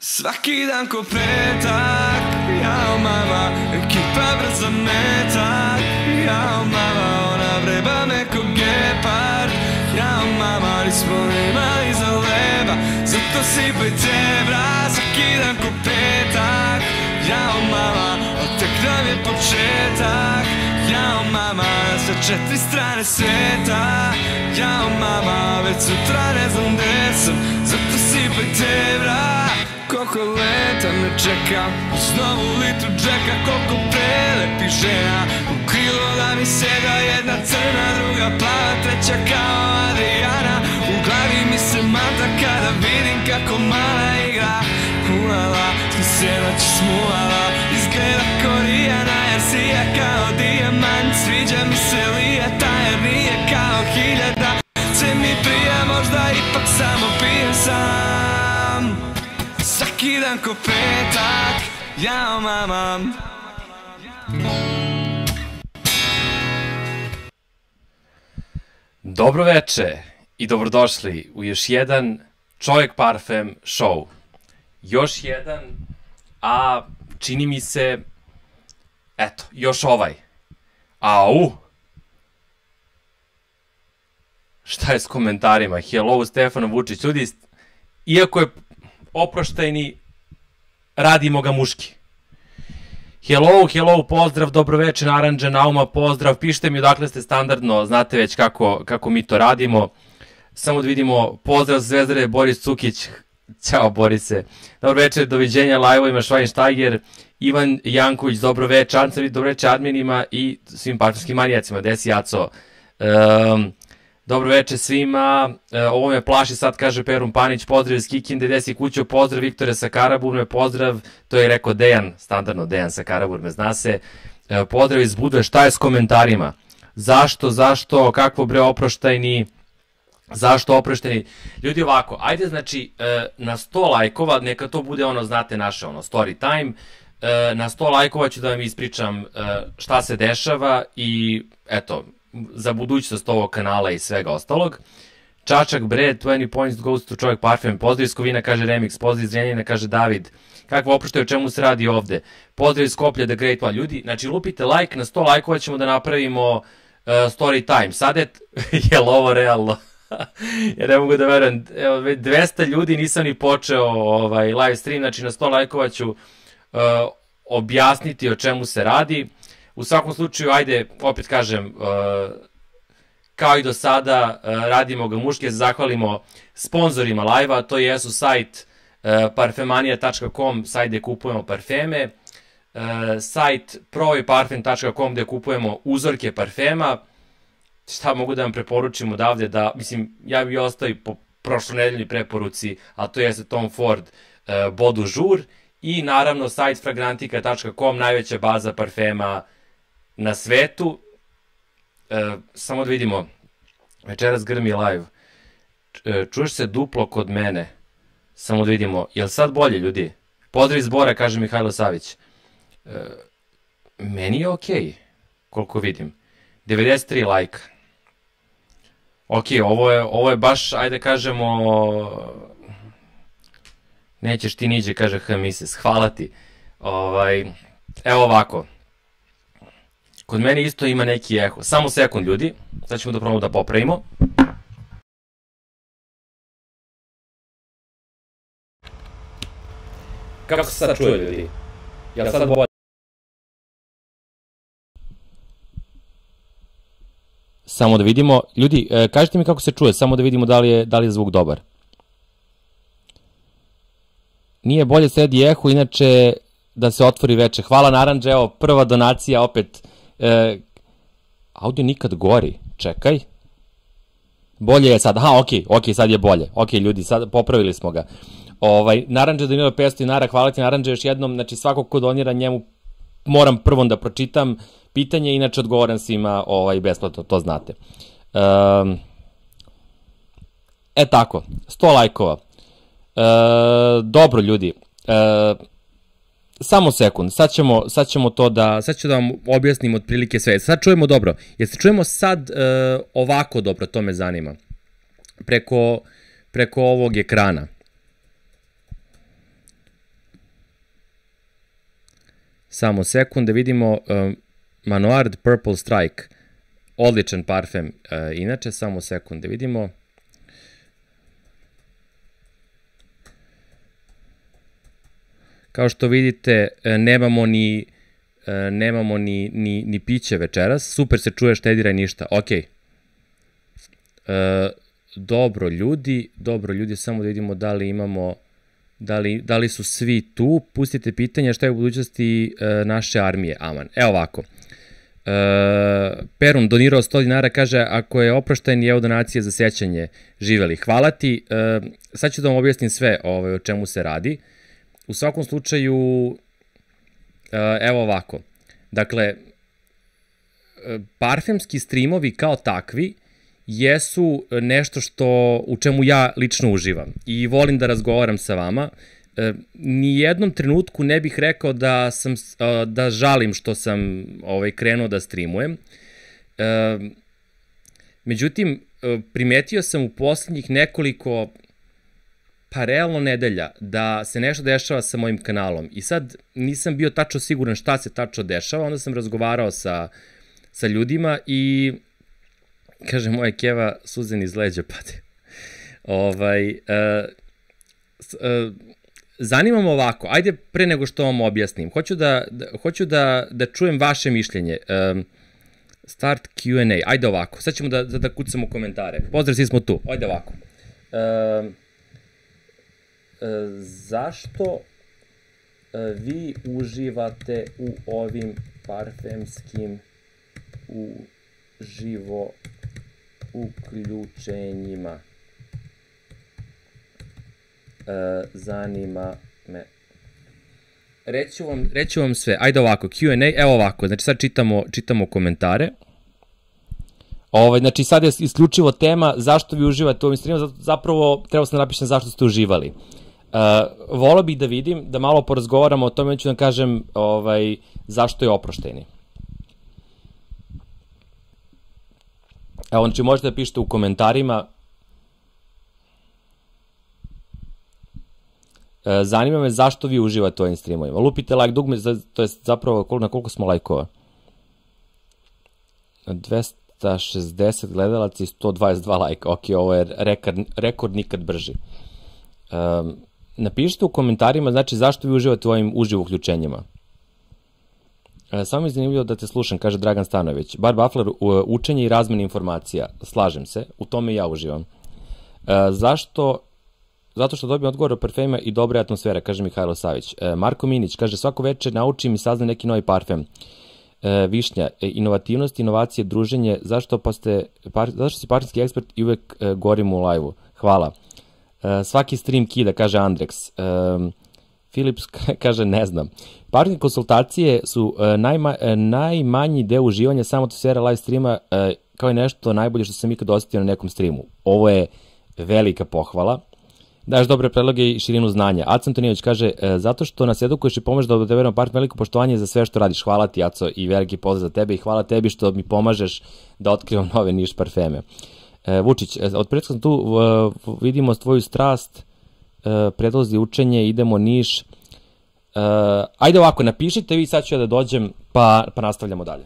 Svaki dan ko petak, jao mama, ekipa brza metak. Jao mama, ona vreba me ko gepard. Jao mama, nismo nemali za leba, zato sipaj tebra. Svaki dan ko petak, jao mama, a tek nam je početak. Jao mama, sa 4 strane sveta. Jao mama, već sutra ne znam gde sam, zato sipaj tebra. Koliko leta me čeka, uz novu litru džeka. Koliko prelepih žena u krilo da mi sega. Jedna crna, druga plava, treća kao Adriana. U glavi mi se mata kada vidim kako mala igra. Ulala, smo se noći smuvala, izgleda ko Rijana. Jer sija kao dijamant, sviđa mi se lijeta. Jer nije kao hiljada, sve mi prija, možda ipak samo pijem sam. Svaki dan ko petak, jao mama. Dobro veče i dobrodošli u još jedan Čovjek Parfem show. Još jedan, a čini mi se, eto, još ovaj. Au! Šta je s komentarima? Hello, Stefano Vučić. Ljudi, iako je oproštajni, radimo ga muški. Hello, hello, pozdrav, dobroveče, Naranđa, Nauma, pozdrav, pišite mi odakle ste standardno, znate već kako mi to radimo. Samo da vidimo, pozdrav Zvezdare, Boris Cukić, ćao Borise, dobroveče, doviđenja live-ovima, Švajnštajger, Ivan Janković, dobroveče, Ancević, dobroveče adminima i svim parfemskim manijacima, desi Jaco. Dobro veče svima, ovo me plaši sad, kaže Perun Panić, pozdrav iz Kikinde, desi kućo, pozdrav Viktore sa Karaburme, pozdrav, to je rekao Dejan, standardno Dejan sa Karaburme, zna se, pozdrav iz Budve, šta je s komentarima, zašto, kakvo bre oproštajni, zašto oproštajni, ljudi ovako, ajde znači na 100 lajkova, neka to bude ono, znate naše ono, story time, na 100 lajkova ću da vam ispričam šta se dešava i eto, za budućnost ovog kanala i svega ostalog. Čačak bre, 20 points goes to Čovjek Parfem, pozdrav iz Kovina, kaže Remix, pozdrav iz Zrenjanina, kaže David, kakva oproštaj, o čemu se radi ovde, pozdrav iz Skoplja, The Great One, ljudi, znači lupite like, na 100 lajkova ćemo da napravimo story time, sad je ovo realno, ja ne mogu da verujem, evo 200 ljudi, nisam ni počeo live stream, znači na 100 lajkova ću objasniti o čemu se radi. U svakom slučaju, ajde, opet kažem, kao i do sada, radimo ga muški, se zahvalimo sponzorima live-a, to jesu sajt parfemanija.com, sajt gde kupujemo parfeme, sajt proiparfem.com gde kupujemo uzorke parfema. Šta mogu da vam preporučim odavde, da, mislim, ja bih ostao i po prošlonedeljnoj preporuci, a to jeste Tom Ford Beau du Jour i naravno sajt fragrantika.com, najveća baza parfema na svetu. Samo da vidimo, večeras grmi live, čuješ se duplo kod mene, samo da vidimo, je li sad bolje ljudi? Pozdrav iz Bora, kaže Mihajlo Savić. Meni je okej, koliko vidim, 93 lajka. Ok, ovo je baš, ajde kažemo, nećeš ti niđe, kaže Hamises, hvala ti. Evo ovako, kod mene isto ima neki eho, samo sekund ljudi, sad ćemo da probamo da popravimo. Kako se sad čuje ljudi? Jel sad bolje? Samo da vidimo, ljudi, kažite mi kako se čuje, samo da vidimo da li je zvuk dobar. Nije bolje, sredi eho, inače da se otvori veče. Hvala Naranđa, evo prva donacija opet. Audio nikad gori, čekaj. Bolje je sad, aha, ok, sad je bolje. Ok, ljudi, sad popravili smo ga. Naranđa donira 500 dinara, hvala ti Naranđa još jednom, znači svako ko donira njemu moram prvom da pročitam pitanje, inače odgovoram svima besplatno, to znate. Tako, 100 lajkova. Dobro ljudi, samo sekund, sad ćemo to sad ću da vam objasnim otprilike sve. Sad čujemo dobro, jer se čujemo sad ovako dobro, to me zanima, preko ovog ekrana. Samo sekund da vidimo Manoard Purple Strike. Odličan parfem. Inače, samo sekund da vidimo. Kao što vidite, nemamo ni piće večeras. Super se čuje, štedira i ništa. Ok. Dobro ljudi, samo da vidimo da li imamo, da li su svi tu. Pustite pitanja šta je u budućnosti naše armije. Aman. Evo ovako. Perun donirao 100 dinara, kaže ako je oprošten je donacije za sećanje, živeli. Hvala ti. Sad ću da vam objasnim sve o čemu se radi. U svakom slučaju, evo ovako. Dakle, parfemski streamovi kao takvi jesu nešto u čemu ja lično uživam i volim da razgovaram sa vama. Nijednom trenutku ne bih rekao da žalim što sam krenuo da streamujem. Međutim, primetio sam u poslednjih nekoliko realno nedelja da se nešto dešava sa mojim kanalom i sad nisam bio tačno siguran šta se tačno dešava, onda sam razgovarao sa ljudima i kaže moja keva suzen iz leđa pade. Zanima me ovako, ajde pre nego što vam objasnim, hoću da čujem vaše mišljenje. Start Q&A, ajde ovako, sad ćemo da kucamo komentare. Pozdrav, svi smo tu, ajde ovako. Zašto vi uživate u ovim parfemskim uživo uključenjima? Zanima me. Reću vam sve. Ajde ovako, Q&A, evo ovako, znači sad čitamo komentare. Znači sad je isključivo tema zašto vi uživate u ovim streamima, zapravo trebao sam da napišem zašto ste uživali. Volao bih da vidim, da malo porazgovaramo o tome, ću da kažem zašto je oprošteni. Evo, znači možete da pišete u komentarima. Zanima me zašto vi uživate u ovim streamovima. Lupite like dugme, to je zapravo na koliko smo lajkova? 260 gledalaca i 122 lajka. Ok, ovo je rekord nikad brži. Napišite u komentarima, znači, zašto vi uživate u ovim uživo uključenjima. Samo mi je zanimljivo da te slušam, kaže Dragan Stanović. Bar Bafler, učenje i razmene informacija. Slažem se, u tome i ja uživam. Zašto? Zato što dobijem odgovor o parfemima i dobra atmosfera, kaže Mihajlo Savić. Marko Minić, kaže, svako večer naučim i saznam neki novi parfem. Višnja, inovativnost, inovacije, druženje, zašto si parfemski ekspert i uvek gorim u live-u. Hvala. Svaki stream kida, kaže Andrex. Philips kaže, ne znam. Parfemske konsultacije su najmanji deo uživanja, samo atmosfera live streama, kao i nešto najbolje što sam ikad osetio na nekom streamu. Ovo je velika pohvala. Daješ dobre predloge i širinu znanja. Aco Antonijević kaže, zato što nas edukuješ i pomožeš da odaberemo parfem, veliko poštovanje za sve što radiš. Hvala ti, Aco, i veliki pozdrav za tebe i hvala tebi što mi pomažeš da otkrivam nove niš parfeme. Vučić, od pretka sam tu, vidimo tvoju strast, predlozi učenje, idemo Niš. Ajde ovako, napišite vi, sad ću ja da dođem, pa nastavljamo dalje.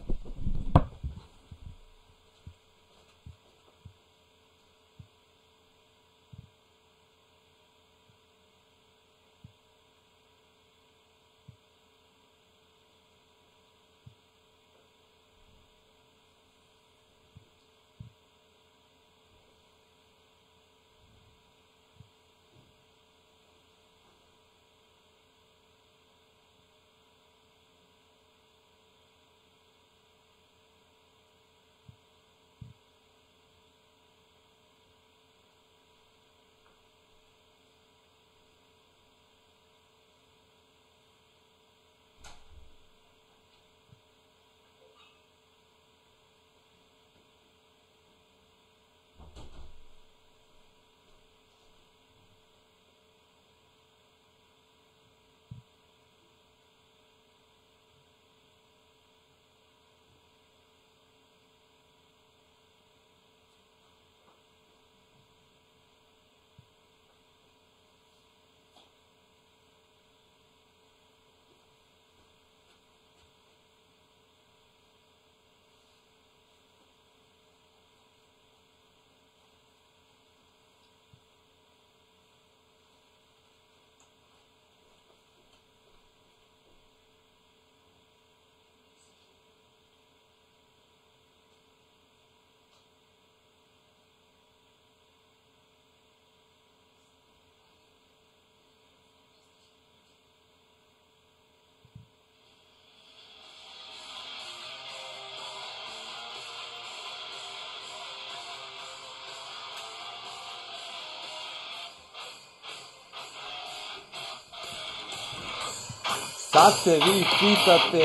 Sad se vi pitate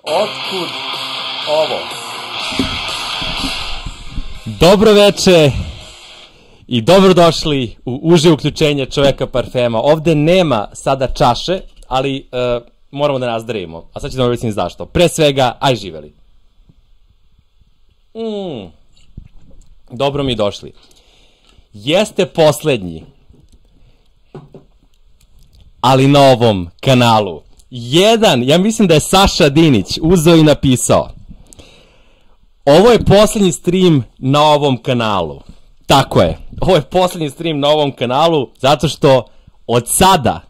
otkud ovo. Dobro veče i dobrodošli u uže uključenje Čoveka parfema. Ovde nema sada čaše, ali moramo da nazdravimo. A sad ću da vam objasnim zašto. Pre svega, aj živeli. Dobro mi došli. Jeste poslednji, ali na ovom kanalu. Ja mislim da je Saša Dinić uzeo i napisao: ovo je poslednji stream na ovom kanalu. Tako je, ovo je poslednji stream na ovom kanalu, zato što od sada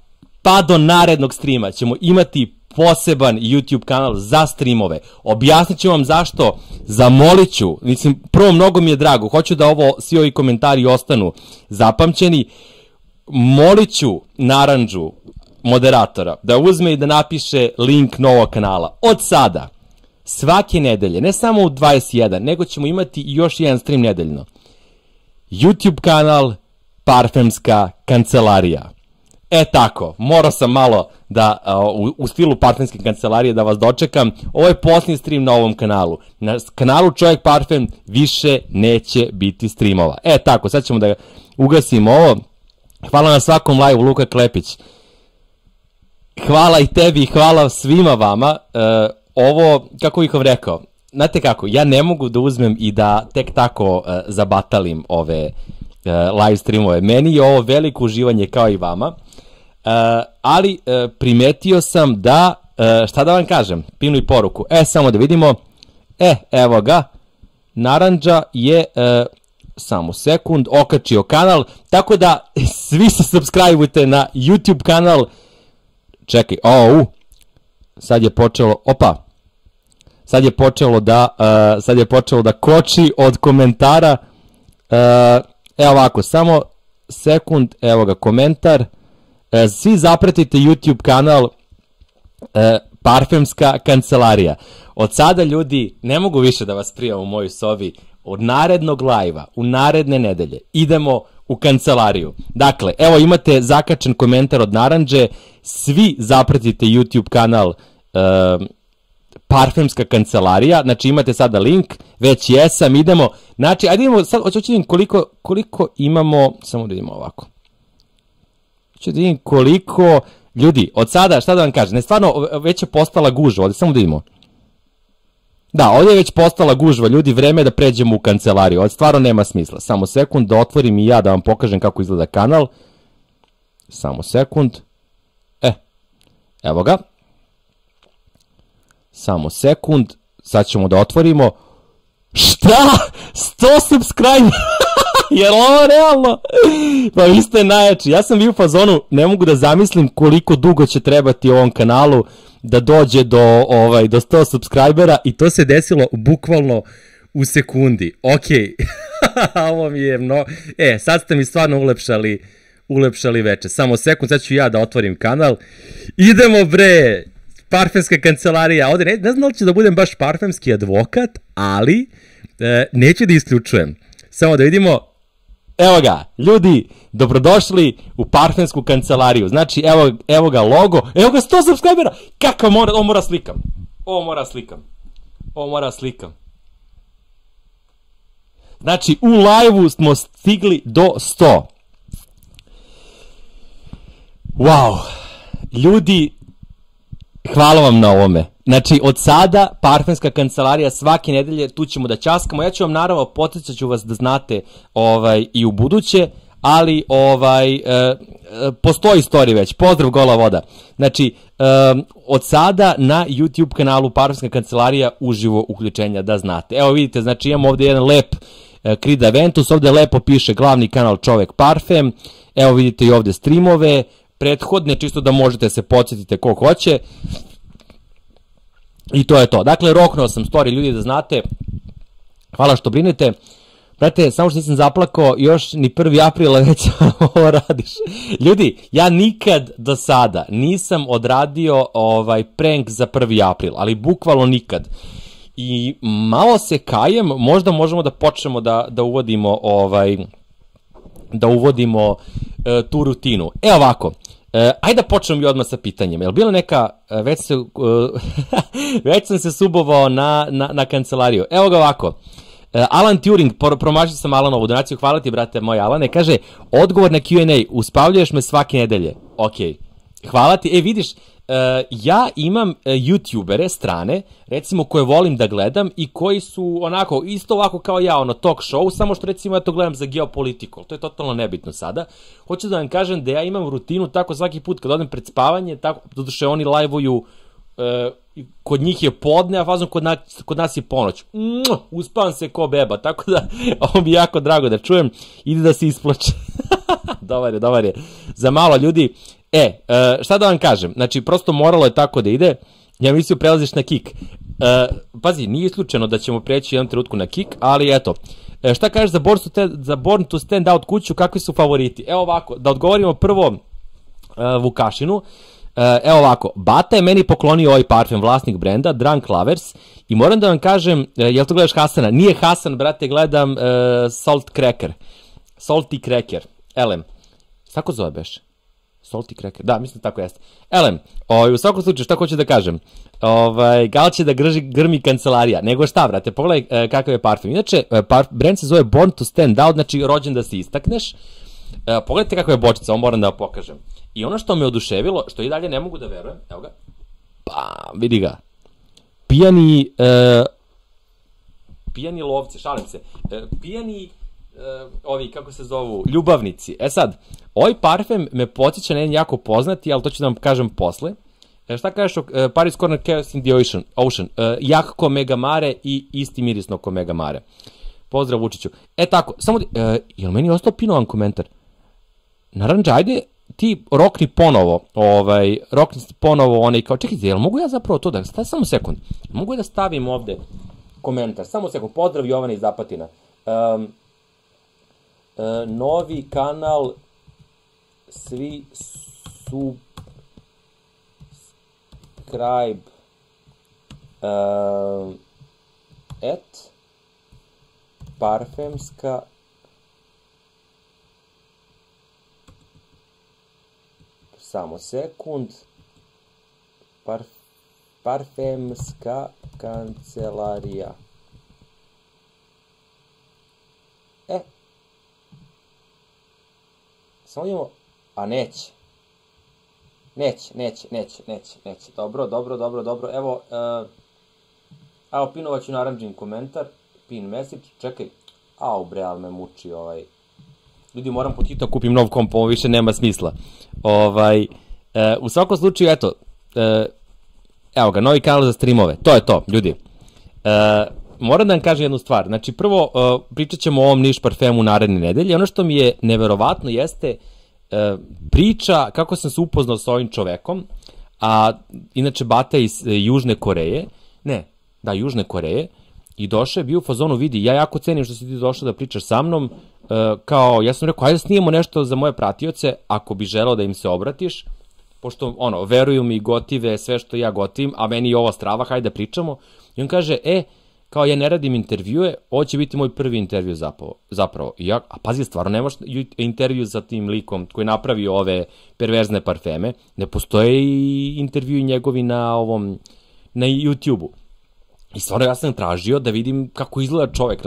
pa do narednog streama ćemo imati poseban YouTube kanal za streamove. Objasnit ću vam zašto, zamolit ću, mislim, prvo mnogo mi je drago, hoću da svi ovi komentari ostanu zapamćeni, molit ću Narandžu, moderatora, da uzme i da napiše link novog kanala. Od sada, svake nedelje, ne samo u 21, nego ćemo imati još jedan stream nedeljno. YouTube kanal Parfemska kancelarija. Tako, morao sam malo da, u stilu Parfemske kancelarije da vas dočekam. Ovo je posljednji stream na ovom kanalu. Na kanalu Čovek parfem više neće biti streamova. Tako, sad ćemo da ugasimo ovo. Hvala na svakom live-u, Luka Klepić. Hvala i tebi i hvala svima vama. Ovo, kako bih vam rekao, znate kako, ja ne mogu da uzmem i da tek tako zabatalim ove live streamove. Meni je ovo veliko uživanje kao i vama, ali primetio sam da, šta da vam kažem, pinu i poruku. Samo da vidimo, evo ga, Narandža je, samo sekund, okačio kanal, tako da svi se subscribe-ujte na YouTube kanal. Čekaj, sad je počelo, sad je počelo da koči od komentara. Evo ovako, samo sekund, evo ga komentar. Svi zapratite YouTube kanal Parfemska kancelarija. Od sada, ljudi, ne mogu više da vas prijam u mojoj sobi. Od narednog live-a, u naredne nedelje, idemo u kancelariju. Dakle, evo imate zakačen komentar od Narandže. Svi zapratite YouTube kanal Parfemska kancelarija, znači imate sada link, već jesam, idemo, znači, ajde idemo, sad hoću da vidim koliko imamo, samo da vidimo ovako, hoću da vidim koliko, ljudi, od sada, šta da vam kažem, ne, stvarno, već je postala gužva, ovdje, samo da vidimo, da, ovdje je već postala gužva, ljudi, vreme je da pređemo u kancelariju, ovdje stvarno nema smisla, samo sekund, da otvorim i ja da vam pokažem kako izgleda kanal, samo sekund, evo ga, samo sekund, sad ćemo da otvorimo. Šta? 100 subscribe? Je li ovo realno? Pa vi ste najjači. Ja sam bio u fazonu, ne mogu da zamislim koliko dugo će trebati ovom kanalu da dođe do 100 subscribera i to se desilo bukvalno u sekundi. Okej, ovo mi je sad ste mi stvarno ulepšali veče. Samo sekund, sad ću ja da otvorim kanal. Idemo bre! Parfemska kancelarija, ovde ne znam da li ću da budem baš parfemski advokat, ali neću da isključujem. Samo da vidimo, evo ga, ljudi, dobrodošli u Parfemsku kancelariju. Znači, evo ga logo, evo ga 100 subscribera, kakav ovo mora slikam. Znači, u live-u smo stigli do 100. Wow, ljudi, hvala vam na ovome. Znači, od sada, Parfemska kancelarija svake nedelje, tu ćemo da ćaskamo. Ja ću vam, naravno, podsjećat ću vas da znate i u buduće, ali postoji story već. Pozdrav, gola voda. Znači, od sada na YouTube kanalu Parfemska kancelarija uživo uključenja, da znate. Evo vidite, znači imamo ovde jedan lep Creed Aventus, ovde lepo piše glavni kanal Čovek parfem. Evo vidite i ovde streamove prethodne, čisto da možete se podsjetite ko hoće. I to je to. Dakle, roknuo sam story, ljudi, da znate. Hvala što brinete. Brate, samo što nisam zaplakao, još ni 1. aprila već ovo radiš. Ljudi, ja nikad do sada nisam odradio prank za 1. april, ali bukvalno nikad. I malo se kajem, možda možemo da počnemo da uvodimo tu rutinu. Evo ovako, Ajde da počnem i odmah sa pitanjem. Je li bila neka, već sam se subovao na kancelariju. Evo ga ovako. Alan Turing, promašio sam Alanovu donaciju, hvala ti brate moj Alane, kaže, odgovor na Q&A, uspavljuješ me svake nedelje. Ok, hvala ti. Vidiš, ja imam youtubere strane, recimo koje volim da gledam i koji su onako, isto ovako kao ja, talk show, samo što recimo ja to gledam za geopolitiku, to je totalno nebitno sada. Hoću da vam kažem da ja imam rutinu tako svaki put kad odem pred spavanje, tako, doduše oni live-uju, kod njih je podne, a fazom kod nas je ponoć. Uspavam se ko beba, tako da ovo mi je jako drago da čujem, ide da se isplače. Dobar je. Za malo ljudi. Šta da vam kažem, znači prosto moralo je tako da ide, ja mislio prelaziš na Kik. Pazi, nije isključeno da ćemo preći jednom trenutku na Kik, ali eto, šta kažeš za Born to Stand Out kuću, kakvi su favoriti? Evo ovako, da odgovorimo prvo Vukašinu. Evo ovako, Bata je meni poklonio ovaj parfem, vlasnik brenda, Drunk Lovers, i moram da vam kažem, jel to gledaš Hasana? Nije Hasan, brate, gledam Salty Cracker, Elem. Tako zove beš? Salty Cracker, da, mislim tako jeste. Elem, u svakom slučaju, šta hoću da kažem? Gal će da grmi kancelarija, nego šta, brate, pogledaj kakav je parfem. Inače, brend se zove Born to Stand Out, znači rođen da se istakneš. Pogledajte kakva je bočica, ovo moram da vam pokažem. I ono što me oduševilo, što i dalje ne mogu da verujem, evo ga, pa vidi ga, pijani lovci, šalim se, pijani, ovi, kako se zovu, ljubavnici. Sad, ovaj parfem me podsjeća na jedan jako poznati, ali to ću da vam kažem posle. Šta kažeš o Paris Corner Chaos in the Ocean? Jak ko Mega Mare i isti mirisno ko Mega Mare. Pozdrav Vučiću. Tako, samo, je li meni ostao pinovan komentar? Naranđa, ajde ti rokni ponovo, onaj kao, čekajte, jel mogu ja zapravo to da, samo sekund, mogu ja da stavim ovde komentar, samo sekund, pozdrav Jovana iz Zapatina. Novi kanal, svi subscribe, parfemska samo sekund parfemska kancelarija. Samo idemo, a neće. Dobro, evo, pinovat ću naranđin komentar, pin message, čekaj, bre, ali me muči ljudi, moram po hitno kupim nov komp, ovo više nema smisla. U svakom slučaju, eto, evo ga, novi kanal za streamove, to je to, ljudi. Moram da vam kažem jednu stvar, znači prvo pričat ćemo o ovom Niš parfemu naredne nedelje, ono što mi je neverovatno jeste priča kako sam se upoznao sa ovim čovekom, a inače Bata iz Južne Koreje, Južne Koreje, i došao je, bio u fazonu, vidi, ja jako cenim što si ti došao da pričaš sa mnom, kao, ja sam rekao, ajde da snijemo nešto za moje pratioce, ako bi želeo da im se obratiš, pošto, veruju mi, gotive sve što ja gotivim, a meni je ovo strava, hajde da pričamo, i on kaže, kao ja ne radim intervjue, ovo će biti moj prvi intervju zapravo. A pazi, stvarno nemaš intervju sa tim likom koji napravi ove perverzne parfeme, ne postoje i intervju njegovi na YouTube-u. I stvarno ja sam tražio da vidim kako izgleda čovek,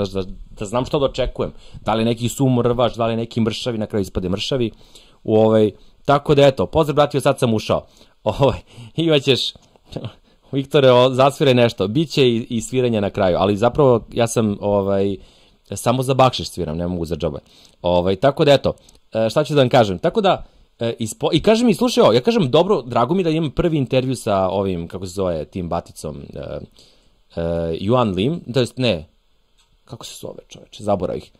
da znam što da očekujem. Da li je neki sumrvaš, da li je neki mršavi, na kraju ispade mršavi. Tako da eto, pozdrav bratio, sad sam ušao. Imaćeš, Viktore, zasviraj nešto. Biće i sviranje na kraju, ali zapravo ja sam samo za bakšiš sviram, ne mogu za džabe. Tako da eto, šta ću da vam kažem. Tako da, i kaže mi, slušaj ovo, ja kažem, dobro, drago mi da imam prvi intervju sa ovim, kako se zove, tim baticom, Yuan Lim, to jest ne, kako se zove čoveče, zaborav ih,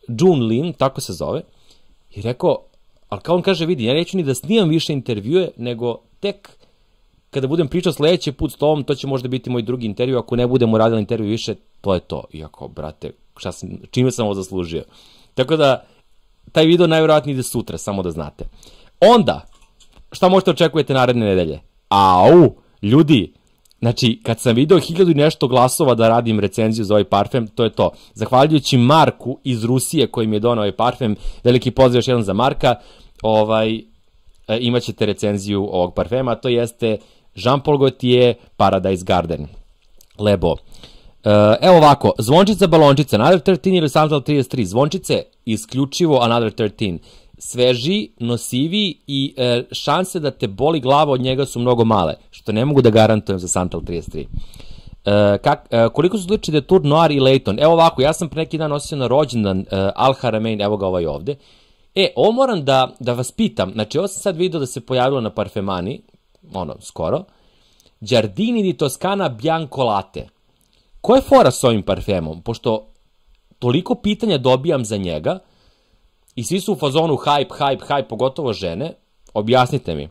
Jun Lim, tako se zove, i rekao, ali kao on kaže, vidi, ja neću ni da snimam više intervjue, nego tek kada budem pričao sledeći put s tobom, to će možda biti moj drugi intervju, ako ne budemo radili intervju više, to je to. Iako, brate, čime sam ovo zaslužio? Tako da, taj video najvjerojatnije ide sutra, samo da znate. Onda, šta možete očekujete naredne nedelje? Ljudi, znači, kad sam video 1000 i nešto glasova da radim recenziju za ovaj parfem, to je to. Zahvaljujući Marku iz Rusije koji mi je donao ovaj parfem, veliki pozdrav još jedan za Marka, imaćete recenziju ovog parfema, a to jeste Jean-Paul Gaultier Paradise Garden. Lebo. Evo ovako, zvončica, balončica, Another 13 ili Santal 33, zvončice isključivo Another 13. Sveži, nosivi i šanse da te boli glava od njega su mnogo male, što ne mogu da garantujem za Santal 33. Koliko su slični Detour Noir i Layton? Evo ovako, ja sam pre neki dan nosio na rođendan Al Haramein, evo ga ovaj ovde. Ovo moram da vas pitam, znači ovo sam sad vidio da se pojavilo na Parfemani, skoro, Giardini di Toscana Bianco Latte. Ko je fora s ovim parfemom? Pošto toliko pitanja dobijam za njega i svi su u fazonu hype, pogotovo žene, objasnite mi,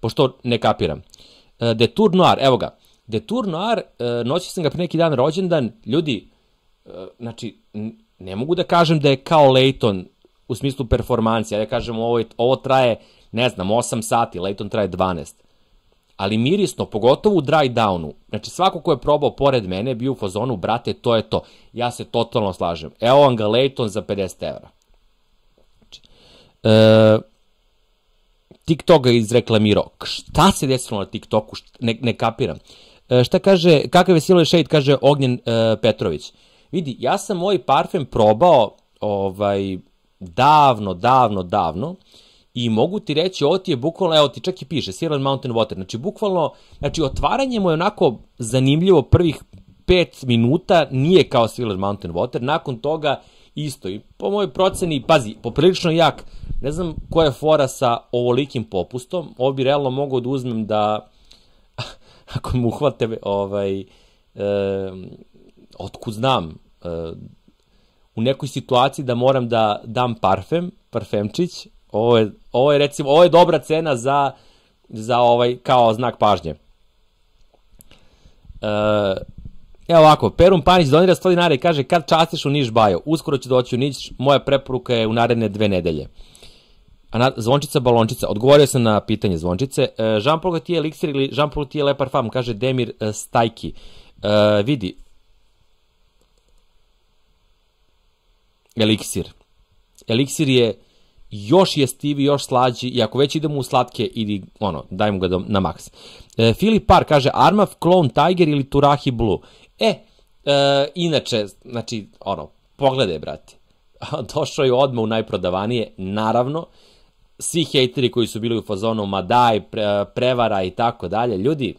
pošto ne kapiram. Detour Noir, evo ga. Detour Noir, nosio sam ga pre neki dan rođendan, ljudi, znači, ne mogu da kažem da je kao Layton u smislu performancija, ja kažem ovo traje, ne znam, 8 sati, Layton traje 12. Ali mirisno, pogotovo u dry downu, znači svako ko je probao pored mene je bio u fazonu, brate, to je to. Ja se totalno slažem. Evo vam ga Layton za 50 evra. TikTok ga izreklamirao. Šta se desilo na TikToku? Ne kapiram. Šta kaže, kakav je Silver Shade, kaže Ognjen Petrović. Vidi, ja sam ovaj parfem probao davno i mogu ti reći, ovo ti je bukvalno, evo ti čak i piše, Silent Mountain Water, znači bukvalno, znači otvaranje mu je onako zanimljivo prvih 5 minuta, nije kao Silent Mountain Water, nakon toga isto i po mojoj proceni, pazi, poprilično jak, ne znam koja je fora sa ovolikim popustom, ovo bi realno mogao da uzmem da, ako mu uhvate, otkud znam, u nekoj situaciji da moram da dam parfemčić, ovo je recimo, ovo je dobra cena za kao znak pažnje. Evo ovako, Perun Panić donira 100 dinara i kaže kad častiš u Niš Bajo, uskoro ću doći u Niš, moja preporuka je u naredne 2 nedelje. Zvončica, balončica, odgovorio sam na pitanje zvončice. Jean-Paul Gaultier eliksir ili Jean-Paul Gaultier Le Parfum, kaže Demir Stajki. Vidi, eliksir je još jestiviji, još slađi i ako već idemo u slatke, dajmo ga na maks. Filip Par kaže Armaf, Clone Tiger ili Turahi Blue. Inače, znači, pogledaj, brate. Došao je odmah u najprodavanije, naravno, svi hejteri koji su bili u fazonu Madaj, prevara i tako dalje, ljudi,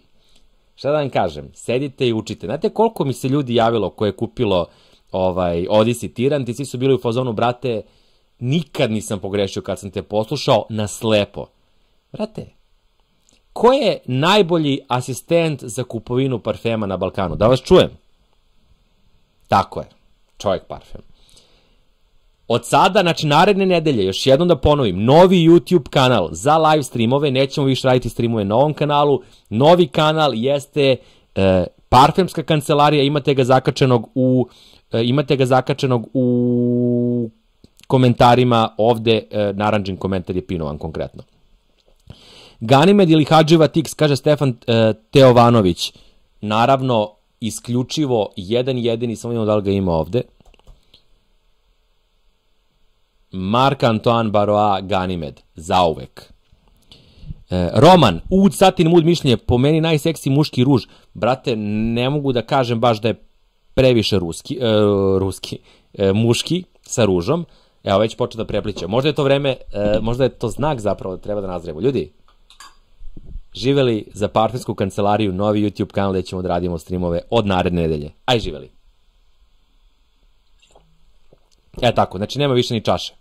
šta da vam kažem, sedite i učite. Znate koliko mi se ljudi javilo koje je kupilo Odyssey Tirant i svi su bili u fazonu, brate, nikad nisam pogrešio kad sam te poslušao na slepo. Brate, ko je najbolji asistent za kupovinu parfema na Balkanu? Da vas čujem. Tako je, Čovjek parfem. Od sada, znači naredne nedelje, još jednom da ponovim, novi YouTube kanal za live streamove, nećemo više raditi streamove na ovom kanalu, novi kanal jeste Parfemska kancelarija, imate ga zakačenog u komentarima ovde, naranđen komentar je pinovan konkretno. Ganimed ili Hadživa Tix, kaže Stefan Teovanović, naravno, isključivo jedan jedini, samo imamo da li ga ima ovde, Marc-Antoine Barrois Ganymed, zauvek. Roman, Oud Satin Mood mišljenje, po meni najseksi muški ruž. Brate, ne mogu da kažem baš da je previše muški sa ružom. Evo, već počeo da prepliče. Možda je to vreme, možda je to znak zapravo da treba da nazrevo. Ljudi, živeli za Parfemsku kancelariju, novi YouTube kanal gde ćemo da radimo streamove od naredne nedelje. Aj, živeli. Tako, znači nema više ni čaše.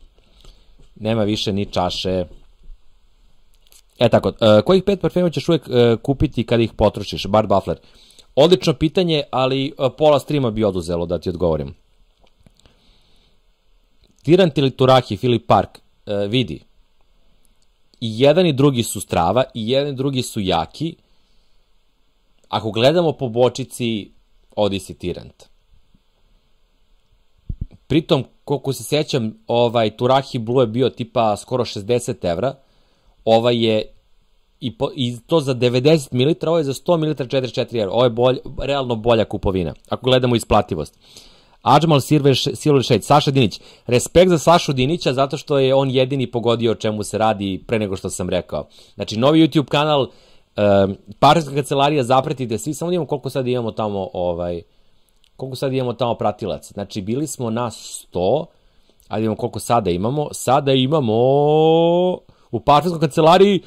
Nema više ni čaše. Tako, kojih 5 parfema ćeš uvek kupiti kada ih potrošiš? Bart Buffler. Odlično pitanje, ali pola streama bi oduzelo da ti odgovorim. Tirant ili Turahi, Filip Park, vidi. I jedan i drugi su strava, i jedan i drugi su jaki. Ako gledamo po bočici, Odyssey Tirant. Pritom, koliko se sećam, Turahi Blue je bio tipa skoro 60 evra, ovaj je i to za 90 ml, ovo je za 100 ml 44 evra, ovo je realno bolja kupovina, ako gledamo isplativost. Adžmal Silver Shade, Saša Dinić. Respekt za Sašu Dinića, zato što je on jedini pogodio o čemu se radi pre nego što sam rekao. Znači, novi YouTube kanal, partnerska kancelarija, zapratite svi, samo da imamo koliko sad imamo tamo, koliko sad imamo tamo pratilaca. Znači, bili smo na 100, ali imamo koliko sada imamo. Sada imamo u partnerskoj kancelariji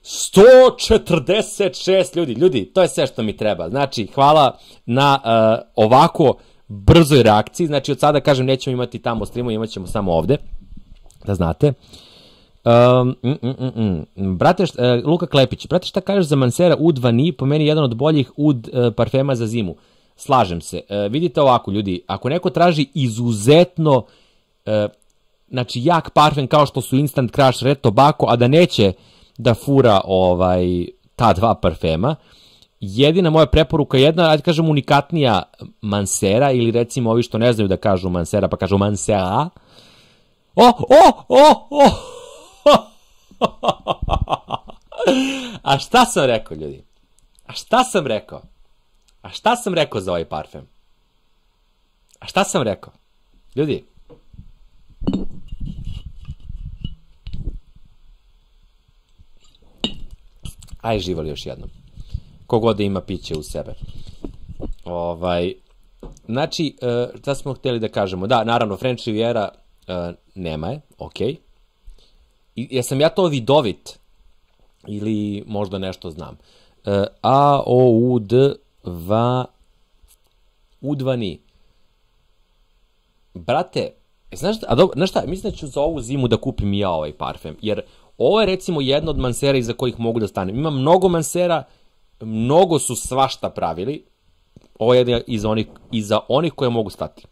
146 ljudi. Ljudi, to je sve što mi treba. Znači, hvala na ovako brzoj reakciji. Znači, od sada, kažem, nećemo imati tamo streamu, imat ćemo samo ovde. Da znate. Brate, Luka Klepić, brate, šta kažeš za Mancera Oud Vanille, po meni jedan od boljih Oud parfema za zimu. Slažem se. Vidite ovako, ljudi, ako neko traži izuzetno znači, jak parfem kao što su Instant Crush, Red Tobacco, a da neće da fura ta dva parfema, jedina moja preporuka, jedna, ajde kažem, unikatnija Mancera, ili recimo ovi što ne znaju da kažu Mancera, pa kažu Mancera. A šta sam rekao, ljudi? A šta sam rekao? A šta sam rekao za ovaj parfem? A šta sam rekao? Ljudi, aj živali još jednom. Kogod da ima piće u sebe. Znači, šta smo htjeli da kažemo? Da, naravno, French Riviera nema je, okej. Jesam ja to vidovit? Ili možda nešto znam. Oud Vanille. Brate, znaš šta, mislim da ću za ovu zimu da kupim ja ovaj parfem, jer ovo je recimo jedna od Mancera iza kojih mogu da stanem. Ima mnogo Mancera, mnogo su svašta pravili, ovo je jedna iza onih koje mogu stati.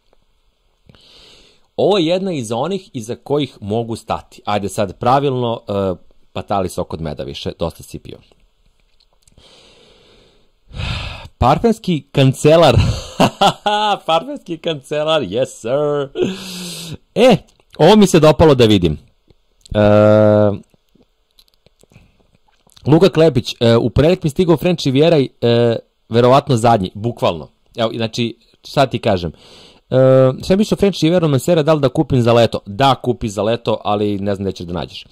Ovo je jedna iza onih iza kojih mogu stati. Ajde sad pravilno, patali sok od meda više, dosta si pio. Parfemski kancelar. Parfemski kancelar, yes sir. Ovo mi se dopalo da vidim. Luka Klepić, u ponedeljak mi stigao French Riviera, verovatno zadnji, bukvalno. Evo, znači, šta ti kažem? Sve mi što French Riviera Mancera, da li da kupim za leto? Da, kupi za leto, ali ne znam gde ćeš da nađeš.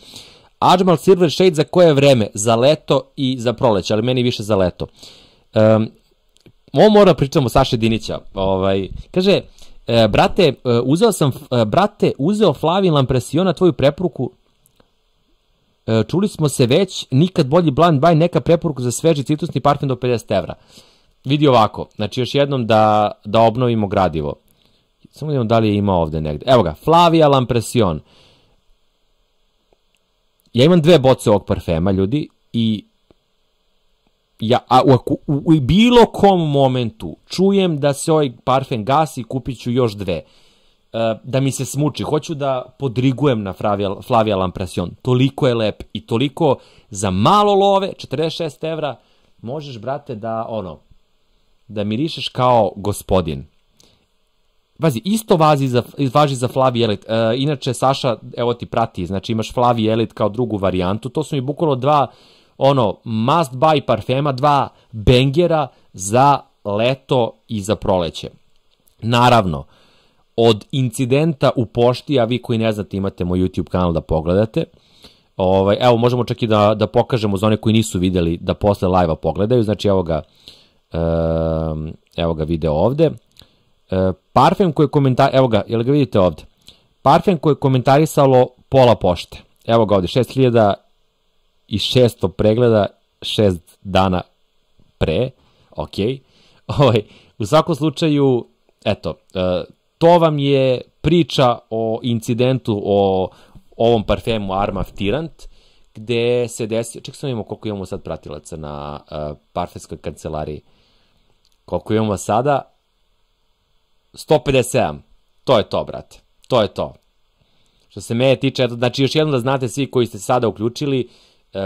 Adžmal Silver Shade za koje vreme? Za leto i za proleće, ali meni više za leto. Ovo moram pričamo o Saše Dinića. Kaže, uzeo Flavien Lampression na tvoju preporuku. Čuli smo se već, nikad bolji blind buy, neka preporuka za sveži citrusni parfem do 50 evra. Vidi ovako, znači još jednom da obnovimo gradivo. Samo vidimo da li je imao ovde negde. Evo ga, Flavia Lampression. Ja imam 2 boce ovog parfema, ljudi, i u bilo kom momentu čujem da se ovaj parfem gasi, kupit ću još 2. Da mi se smuči, hoću da podrigujem na Flavia Lampression. Toliko je lep i toliko za malo love, 46 evra, možeš, brate, da mirišeš kao gospodin. Vazi, isto važi za Flavie Elite. Inače, Saša, evo ti prati, znači imaš Flavie Elite kao drugu varijantu. To su mi bukvalno 2 must buy parfema, 2 bengera za leto i za proleće. Naravno, od incidenta u pošti, a vi koji ne znate imate moj YouTube kanal da pogledate. Evo, možemo čak i da pokažemo za one koji nisu videli da posle live-a pogledaju. Znači, evo ga video ovde. Parfem koji je evo ga, jel ga vidite ovde? Parfem koji je komentarisalo pola pošte. Evo ga ovde, 6600 pregleda 6 dana pre. Ok. U svakom slučaju, eto, to vam je priča o incidentu o ovom parfemu Armaf Tirant, gde se desio, ček sam imamo koliko imamo sad pratilaca na parfemskoj kancelariji. Koliko imamo sada? 157. To je to, brate. To je to. Što se mene tiče, znači još jednom da znate svi koji ste sada uključili,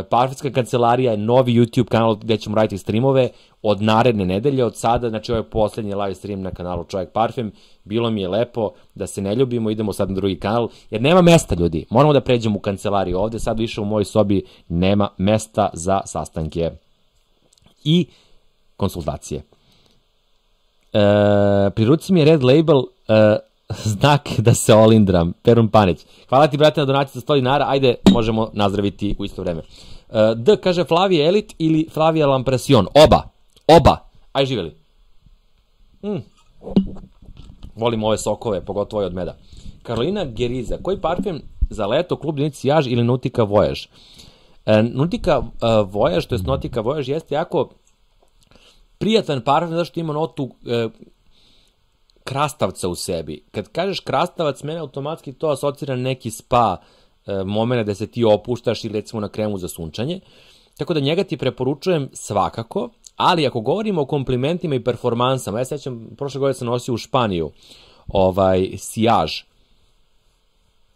parfemska kancelarija je novi YouTube kanal gde ćemo raditi streamove od naredne nedelje, od sada, znači ovo je poslednji live stream na kanalu Čovjek Parfem. Bilo mi je lepo da se ne ljubimo, idemo sad na drugi kanal, jer nema mesta, ljudi. Moramo da pređemo u kancelariju ovde, sad više u mojoj sobi nema mesta za sastanke i konsultacije. Pri ruci mi je Red Label Znak da se olindram. Perun Panić. Hvala ti, brate, na donaciji za 100 dinara. Ajde, možemo nazdraviti u isto vreme. D kaže Flavije Elit ili Flavija Lampresion. Oba. Aj živjeli. Volim ove sokove, pogotovo od meda. Karolina Geriza. Koji parfem za leto, klub Denici Jaž ili Nautica Voyage? Nautica Voyage, to je Nautica Voyage, jeste jako prijatan parfem, zato što ima notu krastavca u sebi. Kad kažeš krastavac, mene automatski to asocira na neki spa momena da se ti opuštaš ili recimo na kremu za sunčanje. Tako da njega ti preporučujem svakako, ali ako govorimo o komplimentima i performansama, ja sećam, prošle godine sam nosio u Španiju sijaž.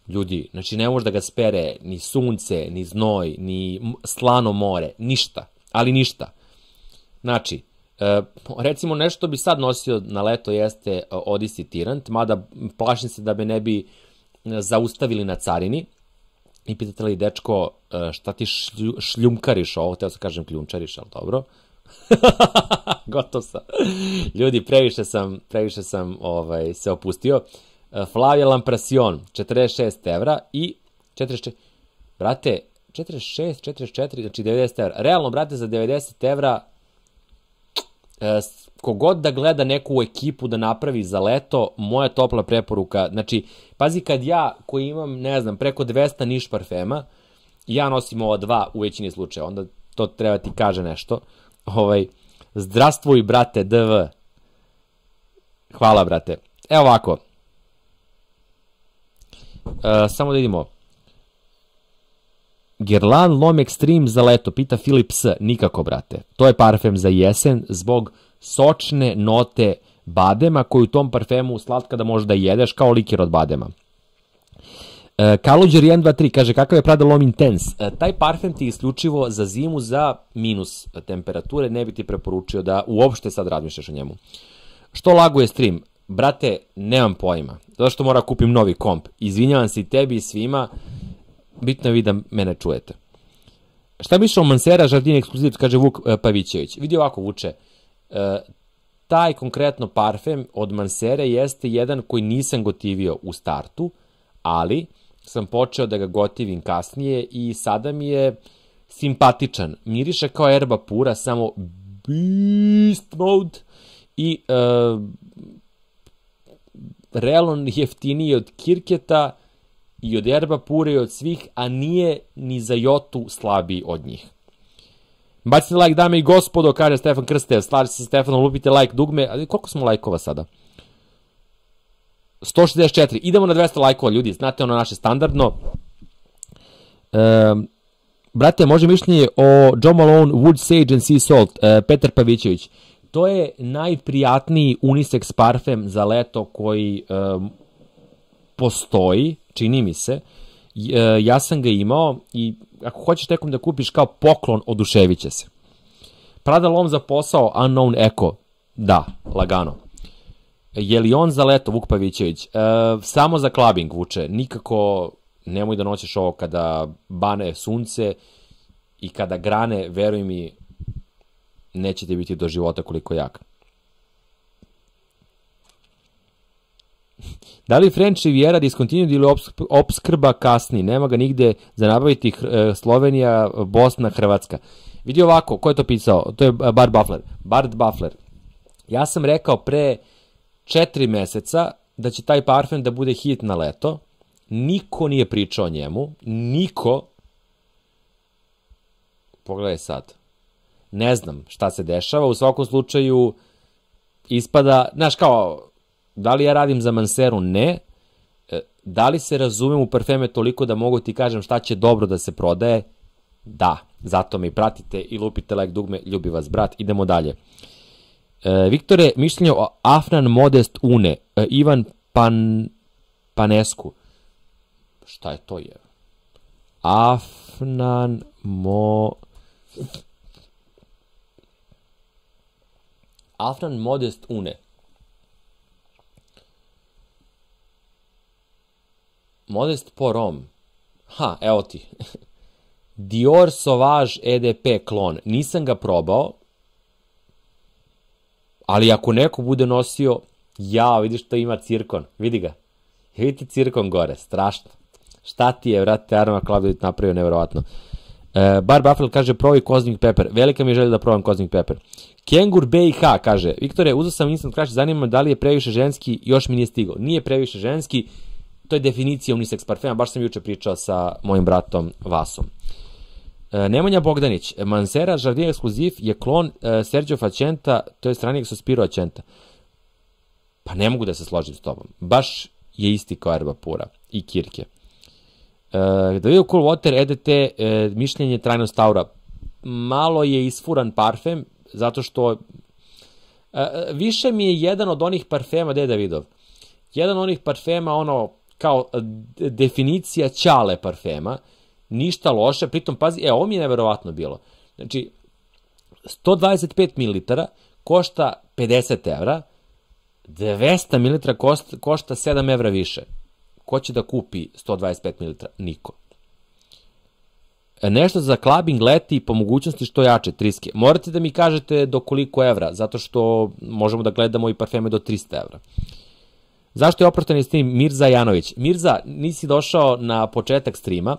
Ljudi, znači ne može da ga spere ni sunce, ni znoj, ni slano more, ništa, ali ništa. Znači, recimo nešto bi sad nosio na leto jeste Odyssey Tirant, mada plašim se da me ne bi zaustavili na carini. I pitate li, dečko, šta ti šljumkariš ovo, teo se kažem kljunčariš, ali dobro. Gotov sam. Ljudi, previše sam se opustio. Flavia Lampresion, 46 evra i 46, brate, 46, 44, znači 90 evra. Realno, brate, za 90 evra kogod da gleda neku ekipu da napravi za leto, moja topla preporuka, znači, pazi, kad ja, koji imam, ne znam, preko 200 niš parfema, ja nosim ova dva u većini slučaja, onda to treba ti kaže nešto. Zdravstvuj, brate, DV. Hvala, brate. Evo ovako. Samo da vidimo. Guerlain L'Homme Extreme za leto, pita Filip S. Nikako, brate. To je parfem za jesen zbog sočne note badema koju u tom parfemu slatka da možeš da jedeš kao liker od badema. Kaluđer 123 kaže kakav je Prada L'Homme Intense. Taj parfem ti je isključivo za zimu za minus temperature, ne bi ti preporučio da uopšte sad razmišljaš o njemu. Što laguje stream? Brate, nemam pojma. Zato što mora kupim novi komp. Izvinjavam se i tebi i svima. Bitno je vi da mene čujete. Šta mišljamo o Mansera Jardin Exclusive, kaže Vuk Pavićević. Vidi ovako, Vuče. Taj konkretno parfem od Mansere jeste jedan koji nisam gotivio u startu, ali sam počeo da ga gotivim kasnije i sada mi je simpatičan. Miriše kao erba pura, samo beast mode i realno jeftiniji od Kirketa i od erba pure i od svih, a nije ni za jotu slabiji od njih. Bacite like, dame i gospodo, kaže Stefan Krstev, slaži se sa Stefanom, lupite like dugme, ali koliko smo lajkova sada? 164, idemo na 200 lajkova, ljudi, znate ono naše standardno. Brate, može mišljenje o Jo Malone, Wood Sage and Sea Salt, Petar Pavićević. To je najprijatniji unisex parfem za leto koji postoji, čini mi se. Ja sam ga imao i ako hoćeš nekom da kupiš kao poklon, oduševit će se. Prada L'Homme za posao, Unknown Echo. Da, lagano. Je li on za leto, Vuk Pavićević? Samo za clubbing, Vuče. Nikako nemoj da noćeš ovo kada bane sunce i kada grane, veruj mi, neće ti biti do života koliko jak. Da li French Riviera discontinued ili opskrba kasni? Nema ga nigde za nabaviti. Slovenija, Bosna, Hrvatska. Vidi ovako, ko je to pisao? To je Bart Buffler. Ja sam rekao pre 4 meseca da će taj parfem da bude hit na leto. Niko nije pričao o njemu. Niko. Pogledaj sad. Ne znam šta se dešava. U svakom slučaju ispada, znaš kao, da li ja radim za Manseru? Ne. Da li se razumem u parfeme toliko da mogu ti kažem šta će dobro da se prodaje? Da. Zato me i pratite i lupite like dugme. Ljubi vas, brat. Idemo dalje. Viktore, mišljenje o Afnan Modest Une. Ivan Panescu. Šta je to je? Afnan Modest Une. Modest Porom. Ha, evo ti. Dior Sauvage EDP klon. Nisam ga probao, ali ako neko bude nosio Jao, vidiš to ima cirkon, vidi ga. Vidite cirkon gore, strašno. Šta ti je, vrate, Arma Klaudovit napravio, nevjerovatno. Bar Buffalo kaže, probaj Cosmic Pepper. Velika mi je želja da probam Cosmic Pepper. Kengur BiH kaže, Viktore, uzeo sam Instant Crush, zanima me da li je previše ženski, još mi nije stigao. Nije previše ženski, to je definicija unisex parfema, baš sam juče pričao sa mojim bratom Vasom. Nemanja Bogdanić, Mansera Jardin Exclusiv je klon Sergio Facenta, to je stranijeg Sospiro Acenta. Pa ne mogu da se složim s tobom. Baš je isti kao Erba Pura i Kirke. Da vidio Cool Water EDT, mišljenje trajnost aura. Malo je isfuran parfem, zato što više mi je jedan od onih parfema, gde je Davidov? Jedan od onih parfema, ono, kao definicija ćale parfema, ništa loše, pritom, pazi, ovo mi je neverovatno bilo. Znači, 125 ml košta 50 evra, 200 ml košta 7 evra više. Ko će da kupi 125 ml? Niko. Nešto za clubbing leti po mogućnosti što jače, triske. Morate da mi kažete do koliko evra, zato što možemo da gledamo i parfeme do 300 evra. Zašto je oprošteni stream Mirza Janović? Mirza, nisi došao na početak streama.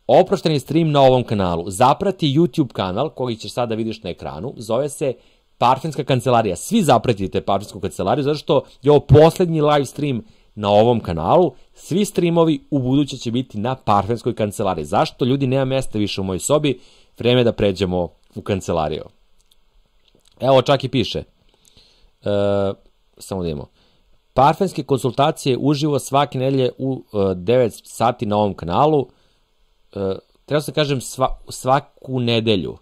Oprošteni stream na ovom kanalu. Zaprati YouTube kanal, koji ćeš sada vidiš na ekranu. Zove se Parfemska kancelarija. Svi zapratite Parfemsku kancelariju, zato što je ovo poslednji live stream na ovom kanalu. Svi streamovi u buduće će biti na Parfemskoj kancelariji. Zašto? Ljudi, nema mesta više u mojoj sobi. Vreme je da pređemo u kancelariju. Evo, čak i piše. Samo da imamo. Parfemske konsultacije uživo svake nedelje u 9 sati na ovom kanalu. Treba se kažem svaku nedelju.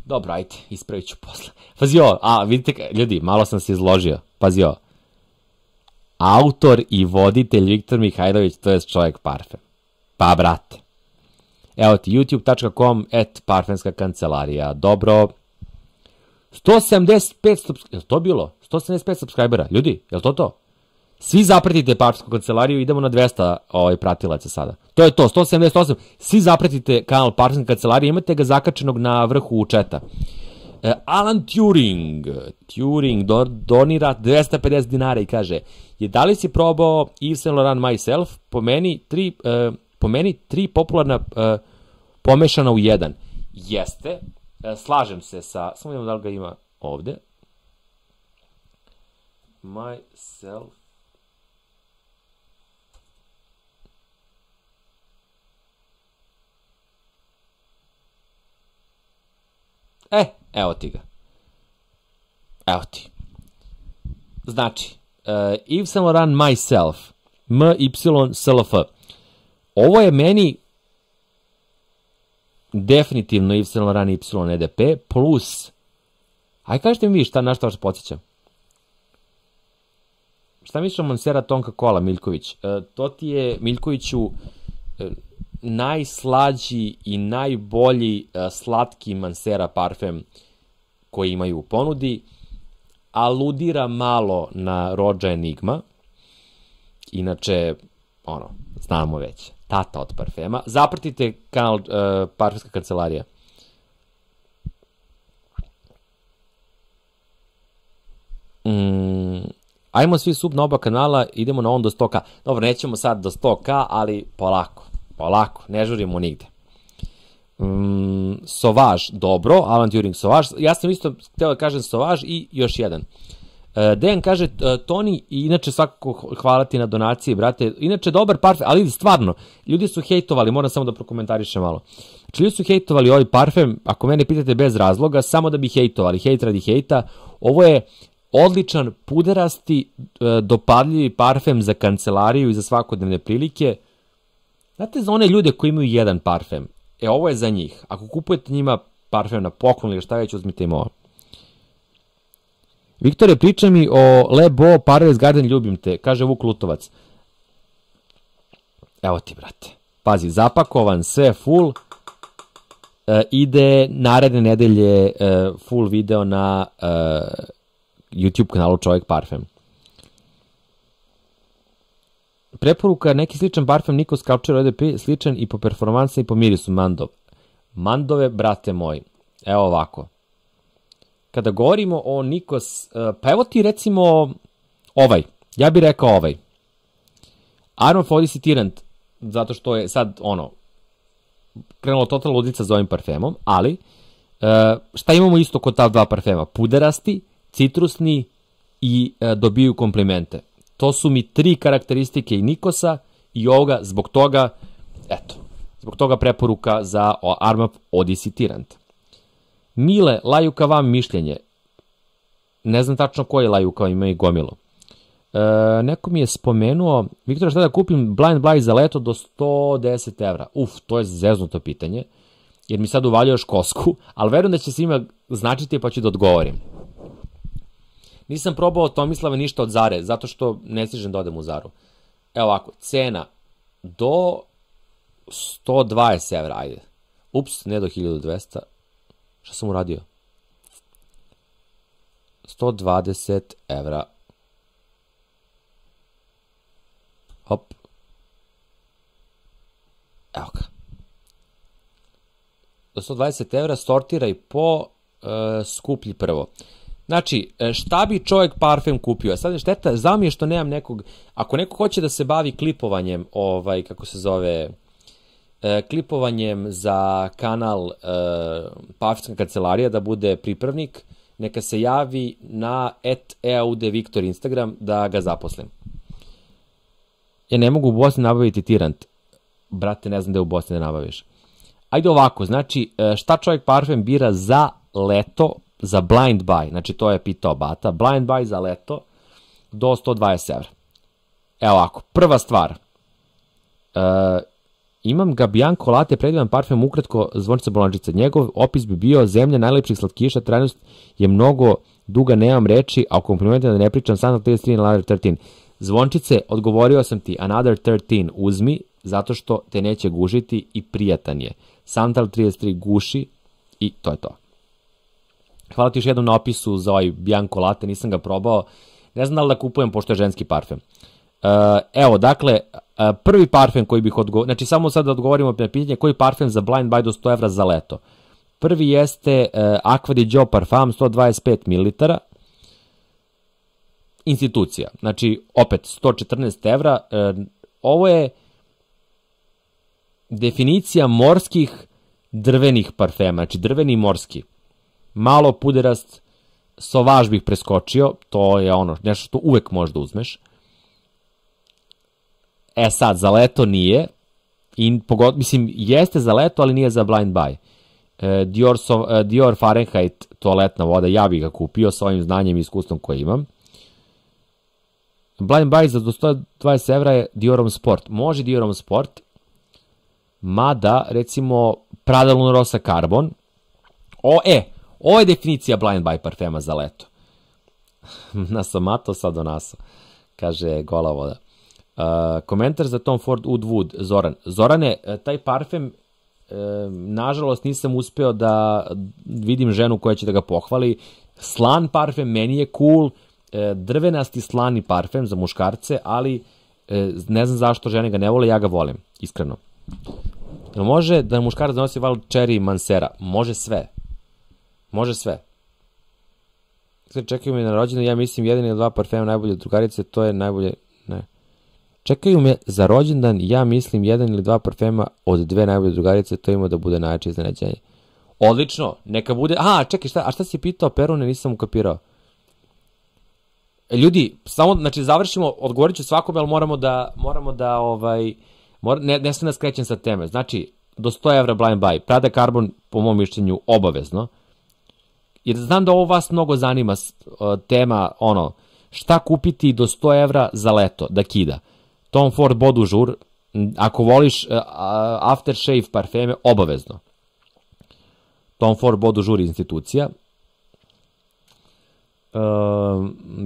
Dobro, ajde, ispravit ću posle. Pazi ovo, vidite, ljudi, malo sam se izložio. Pazi ovo. Autor i voditelj Viktor Mihajlović, to je čovjek parfem. Pa, brate. Evo ti, youtube.com /parfemska kancelarija. Dobro. 175, je li to bilo? 175 subscribera. Ljudi, je li to? Svi zapratite Parfemsku kancelariju, idemo na 200 pratilaca sada. To je to, 178. Svi zapratite kanal Parfemske kancelarije, imate ga zakačenog na vrhu četa. Alan Turing donira 250 dinara i kaže, da li si probao Yves Saint Laurent Myself? Po meni tri popularna pomešana u jedan. Jeste, slažem se sa, samo vidimo da li ga ima ovde. Myself. Evo ti ga. Evo ti. Znači, Yves Saint Laurent Myself, MYSLF. Ovo je meni definitivno Yves Saint Laurent YEDP plus, aj kažete mi vi na šta vas podsjećam. Šta misliš o Mansera Tonka Cola, Miljković? To ti je, Miljkoviću, najslađi i najbolji slatki Mansera parfem koji imaju u ponudi. Aludira malo na Rođa Enigma. Inače, znamo već, tata od parfema. Zapratite kanal Parfemska kancelarija. Ajmo svi sub na oba kanala, idemo na on do 100k. Dobro, nećemo sad do 100k, ali polako, ne žurimo nigde. Sauvage, dobro, Alan Turing Sauvage. Ja sam isto hteo da kažem Sauvage i još jedan. Dejan kaže, Toni, inače svakako hvala ti na donaciji, brate. Inače, dobar parfem, ali stvarno, ljudi su hejtovali, moram samo da prokomentarišem malo. Znači, ljudi su hejtovali ovaj parfem, ako mene pitate bez razloga, samo da bi hejtovali, hejt radi hejta. Ovo je odličan, puderasti, dopadljivi parfem za kancelariju i za svakodnevne prilike. Znate, za one ljude koji imaju jedan parfem, ovo je za njih. Ako kupujete njima parfem na poklon ili šta već, uzmite im ovo. Viktore, pričaj mi o Le Beau Paradise Garden, ljubim te, kaže Vuk Lutovac. Evo ti, brate. Pazi, zapakovan, sve full. Ide naredne nedelje full video na YouTube kanalu Čovjek parfem. Preporuka, neki sličan parfem Nikos Sculpture EDP, sličan i po performansa i po mirisu, Mandov. Mandove, brate moji, evo ovako. Kada govorimo o Nikos, pa evo ti recimo Ja bih rekao Arma of Odyssey Tyrant, zato što je sad, krenulo totalna ludica za ovim parfemom, ali šta imamo isto kod ta dva parfema? Puderasti, citrusni i dobiju komplimente. To su mi 3 karakteristike i Nikosa i ovoga, zbog toga preporuka za Arma of Odyssey Tyrant. Mile, Lajuka vam mišljenje. Ne znam tačno koji Lajuka, ima i gomilo. Neko mi je spomenuo, Viktor, šta da kupim Blind Buy za leto do 110 evra? To je zeznuto pitanje, jer mi sad uvaljuješ kosku, ali verujem da će svima značiti pa ću da odgovorim. Nisam probao od Tomislava ništa od Zare, zato što ne stižem da odem u Zaru. Evo ovako, cena do 120 evra, ajde. Ne do 1200. Šta sam uradio? 120 evra. Hop. Evo ga. Do 120 evra sortiraj po skuplji prvo. Znači, šta bi čovjek parfem kupio? Sad je šteta, znao mi je što nemam nekog, ako neko hoće da se bavi klipovanjem, klipovanjem za kanal Parfemska kancelarija, da bude pripravnik, neka se javi na @eaudviktor Instagram da ga zaposlim. Ja ne mogu u Bosni nabaviti Tyrant. Brate, ne znam da je u Bosni da nabaviš. Ajde ovako, znači, šta čovjek parfem bira za leto, za blind buy, znači to je pitao Bata, blind buy za leto do 120 evra. Evo ovako, prva stvar, imam ga Bianco Latte, predivan parfem, ukratko Zvončica Bolančica. Njegov opis bi bio zemlja najlepših slatkiša, trajnost je mnogo duga, nemam reči, a u komplimentima da ne pričam, Santal 33 and Another 13. Zvončice, odgovorio sam ti, Another 13 uzmi, zato što te neće gužiti i prijatan je. Santal 33 guši i to je to. Hvala ti još jednom na opisu za ovaj Bianco Latte, nisam ga probao, ne znam da li da kupujem pošto je ženski parfem. Evo, dakle, prvi parfem koji bih odgovorio, znači samo sad da odgovorimo na pitanje koji parfem za blind buy do 100 evra za leto. Prvi jeste Acqua di Gio Parfum 125 ml, institucija, znači opet 114 evra, ovo je definicija morskih drvenih parfema, znači drveni i morski. Malo puderast, Sauvage bih preskočio, to je nešto što uvek možda uzmeš. Sad, za leto nije, mislim, jeste za leto, ali nije za blind buy. Dior Fahrenheit toaletna voda, ja bih ga kupio sa ovim znanjem i iskustvom koje imam. Blind buy za do 120 evra je Diorom Sport. Može Diorom Sport, mada, recimo, Prada Luna Rossa Carbon. Ovo je definicija blind buy parfema za leto. Nasomato sadonaso, kaže gola voda. Komentar za Tom Ford Oud Wood, Zoran. Zorane, taj parfem, nažalost nisam uspeo da vidim ženu koja će da ga pohvali. Slan parfem, meni je cool, drvenasti slani parfem za muškarce, ali ne znam zašto žene ga ne vole, ja ga volim, iskreno. Može da muškarac donosi val Cherry Mancera? Može sve. Može sve. Čekaju me na rođendan, ja mislim 1 ili 2 parfema najbolje drugarice, to je najbolje, ne. Čekaju me za rođendan, ja mislim 1 ili 2 parfema od 2 najbolje drugarice, to ima da bude najjače iznenađenje. Odlično, neka bude, čekaj, a šta si pitao Perune, nisam ukapirao. Ljudi, samo, znači završimo, odgovorit ću svakome, ali moramo da ne sve nas krećem sa teme. Znači, do 100 evra blind buy, Prada Carbon, po mom mišljenju, obavezno. Jer znam da ovo vas mnogo zanima, tema, šta kupiti do 100 evra za leto, da kida. Tom Ford Bodu Jour, ako voliš aftershave parfeme, obavezno. Tom Ford Bodu Jour institucija.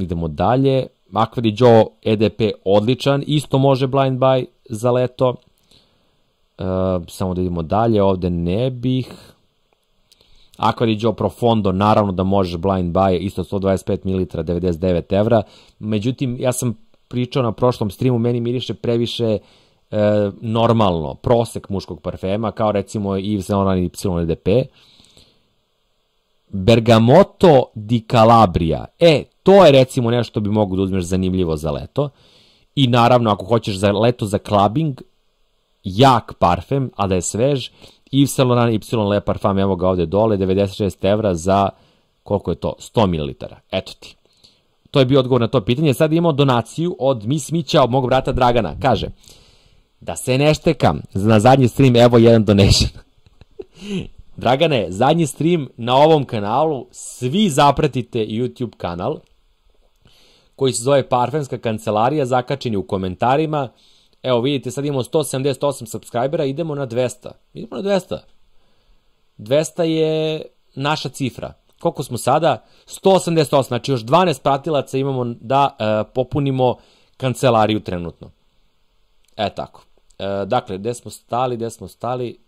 Idemo dalje. Acqua di Gio EDP odličan, isto može blind buy za leto. Samo da idemo dalje, ovde ne bih. Acqua di Gio Profondo, naravno da možeš blind buy, isto 125 ml, 99 evra. Međutim, ja sam pričao na prošlom streamu, meni miriše previše normalno, prosek muškog parfema, kao recimo Yves Saint Laurent Y EDP. Bergamotto di Calabria. To je recimo nešto bi mogu da uzmeš zanimljivo za leto. I naravno, ako hoćeš za leto za clubbing, jak parfem, a da je svež, Yves Saint Laurent Y Le Parfum, evo ga ovde dole, 96 evra za, koliko je to, 100 ml. Eto ti. To je bio odgovor na to pitanje. Sad imamo donaciju od Miss Mića, od mog brata Dragana. Kaže, da se ne štekam, na zadnji stream, evo jedan donation. Dragane, zadnji stream na ovom kanalu, svi zapratite YouTube kanal, koji se zove Parfemska kancelarija, zakačeni u komentarima. Evo vidite, sad imamo 178 subscribera, idemo na 200. 200 je naša cifra. Koliko smo sada? 188, znači još 12 pratilaca imamo da popunimo kancelariju trenutno. Tako. Dakle, gde smo stali?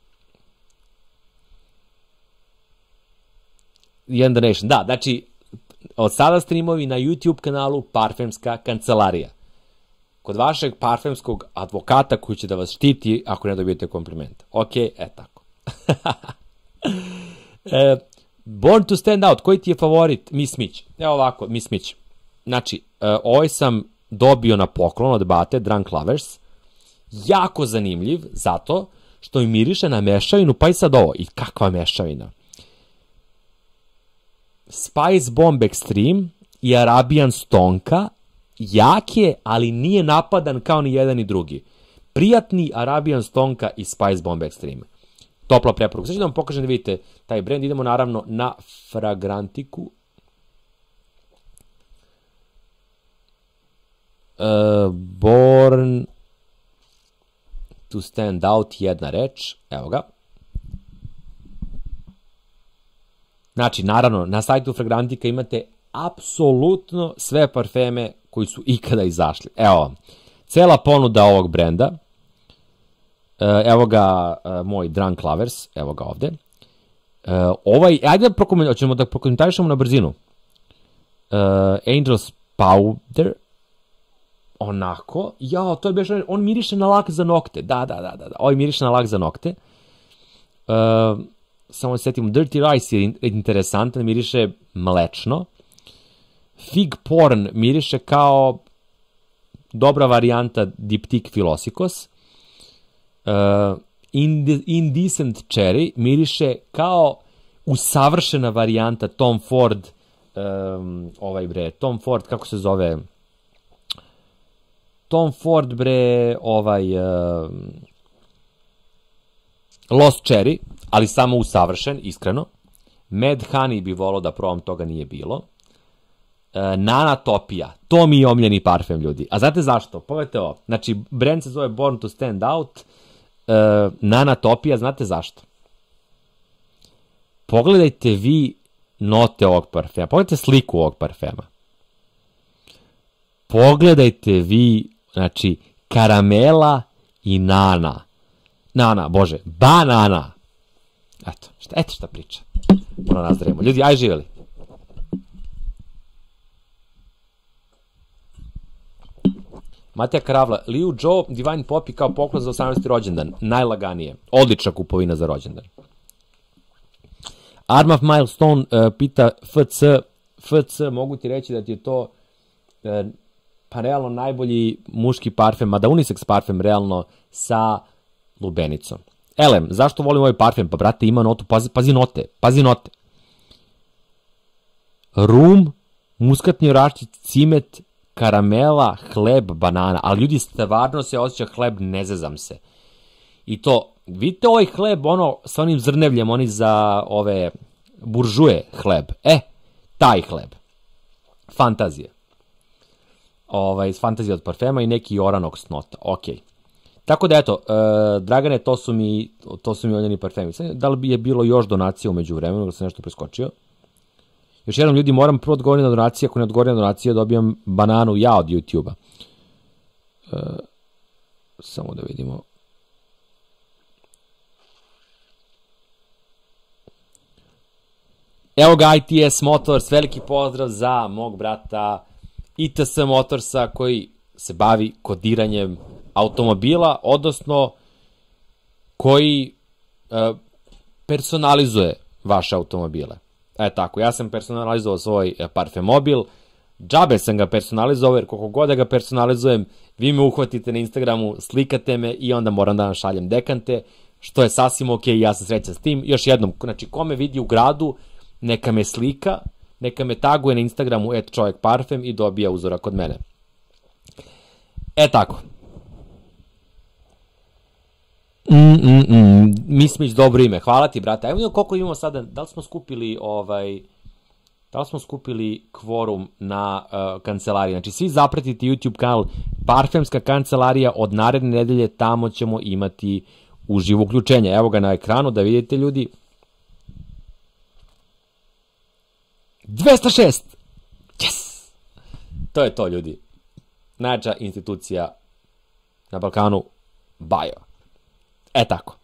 Jedan donation, da, znači, od sada streamovi na YouTube kanalu Parfemska kancelarija. Kod vašeg parfemskog advokata koji će da vas štiti ako ne dobijete kompliment. Ok, tako. Born to stand out, koji ti je favorit? Miss Mitch. Evo ovako, Miss Mitch. Znači, ovaj sam dobio na poklon od bate, Drunk Lovers. Jako zanimljiv, zato što mi miriše na mešavinu, pa i sad ovo. I kakva mešavina? Spice Bomb Extreme i Arabian Stonka, jak je, ali nije napadan kao ni jedan ni drugi. Prijatni Arabian Stonka i Spice Bomb Extreme. Topla preporuka. Sad ću da vam pokažem da vidite taj brand. Idemo naravno na Fragrantiku. Born to stand out, jedna reč. Evo ga. Znači, naravno, na sajtu Fragrantika imate apsolutno sve parfeme koji su ikada izašli. Evo vam, cela ponuda ovog brenda. Evo ga moj Drunk Lovers, evo ga ovde. Ajde da ćemo da prokomentarišemo na brzinu. Angel's Powder. Onako. Jao, to je baš, on miriše na lak za nokte. Da. Ovaj miriše na lak za nokte. Samo se setimo, Dirty Rice je interesantan, miriše mlečno. Fig Porn miriše kao dobra varijanta Diptyque Philosophios. Indecent Cherry miriše kao usavršena varijanta Tom Ford, Tom Ford, kako se zove? Tom Ford, Lost Cherry, ali samo usavršen, iskreno. Mad Honey bi volao da probam, toga nije bilo. Nanatopija, to mi je omljeni parfem, ljudi. A znate zašto? Pogledajte ovo. Znači, brand se zove Born to Stand Out. Nanatopija, znate zašto? Pogledajte vi note ovog parfema. Pogledajte sliku ovog parfema. Pogledajte vi, znači, karamela i banana. Eto šta priča. Puno nazdravimo. Ljudi, aj živjeli. Matija Karavla, Liu Joe, Divine Poppy kao poklon za 18. rođendan. Najlaganije. Odlična kupovina za rođendan. Arm of Milestone pita FC, mogu ti reći da ti je to pa realno najbolji muški parfem, mada unisex parfem realno sa lubenicom. Elem, zašto volim ovaj parfem? Pa brate, ima notu, pazi note. Rum, muskatni oraščić, cimet, karamela, hleb, banana. Ali ljudi, stvarno se osjeća hleb, ne zezam se. I to, vidite ovaj hleb, sa onim zrnevljem, oni za ove buržuje hleb. Taj hleb. Fantazija. Fantazija od parfema i neki oranox nota. Okej. Tako da eto, Dragane, to su mi oljeni parfemi. Da li je bilo još donacija umeđu vremenu, da sam nešto preskočio? Još jednom, ljudi, moram prvo odgovoriti na donacije, ako ne odgovorim na donacije, dobijam bananu ja od YouTube-a. Samo da vidimo. Evo ga ITS Motors, veliki pozdrav za mog brata ITS Motorsa koji se bavi kodiranjem automobila, odnosno koji personalizuje vaše automobile. Tako, ja sam personalizovao svoj parfemobil, džabe sam ga personalizovao, jer koliko god da ga personalizujem, vi me uhvatite na Instagramu, slikate me i onda moram da vam šaljem dekante, što je sasvim ok, ja sam srećan s tim. Još jednom, znači, ko me vidi u gradu, neka me slika, neka me taguje na Instagramu @čovekparfem i dobija uzorak od mene. Tako. Mismić, dobro ime. Hvala ti, brate. Evo koliko imamo sada, da li smo skupili kvorum na kancelariji. Znači, svi zapratite YouTube kanal Parfemska kancelarija, od naredne nedelje tamo ćemo imati uživo uključenje. Evo ga na ekranu da vidite, ljudi. 206! Yes! To je to, ljudi. Najjača institucija na Balkanu, Bajo. Tako.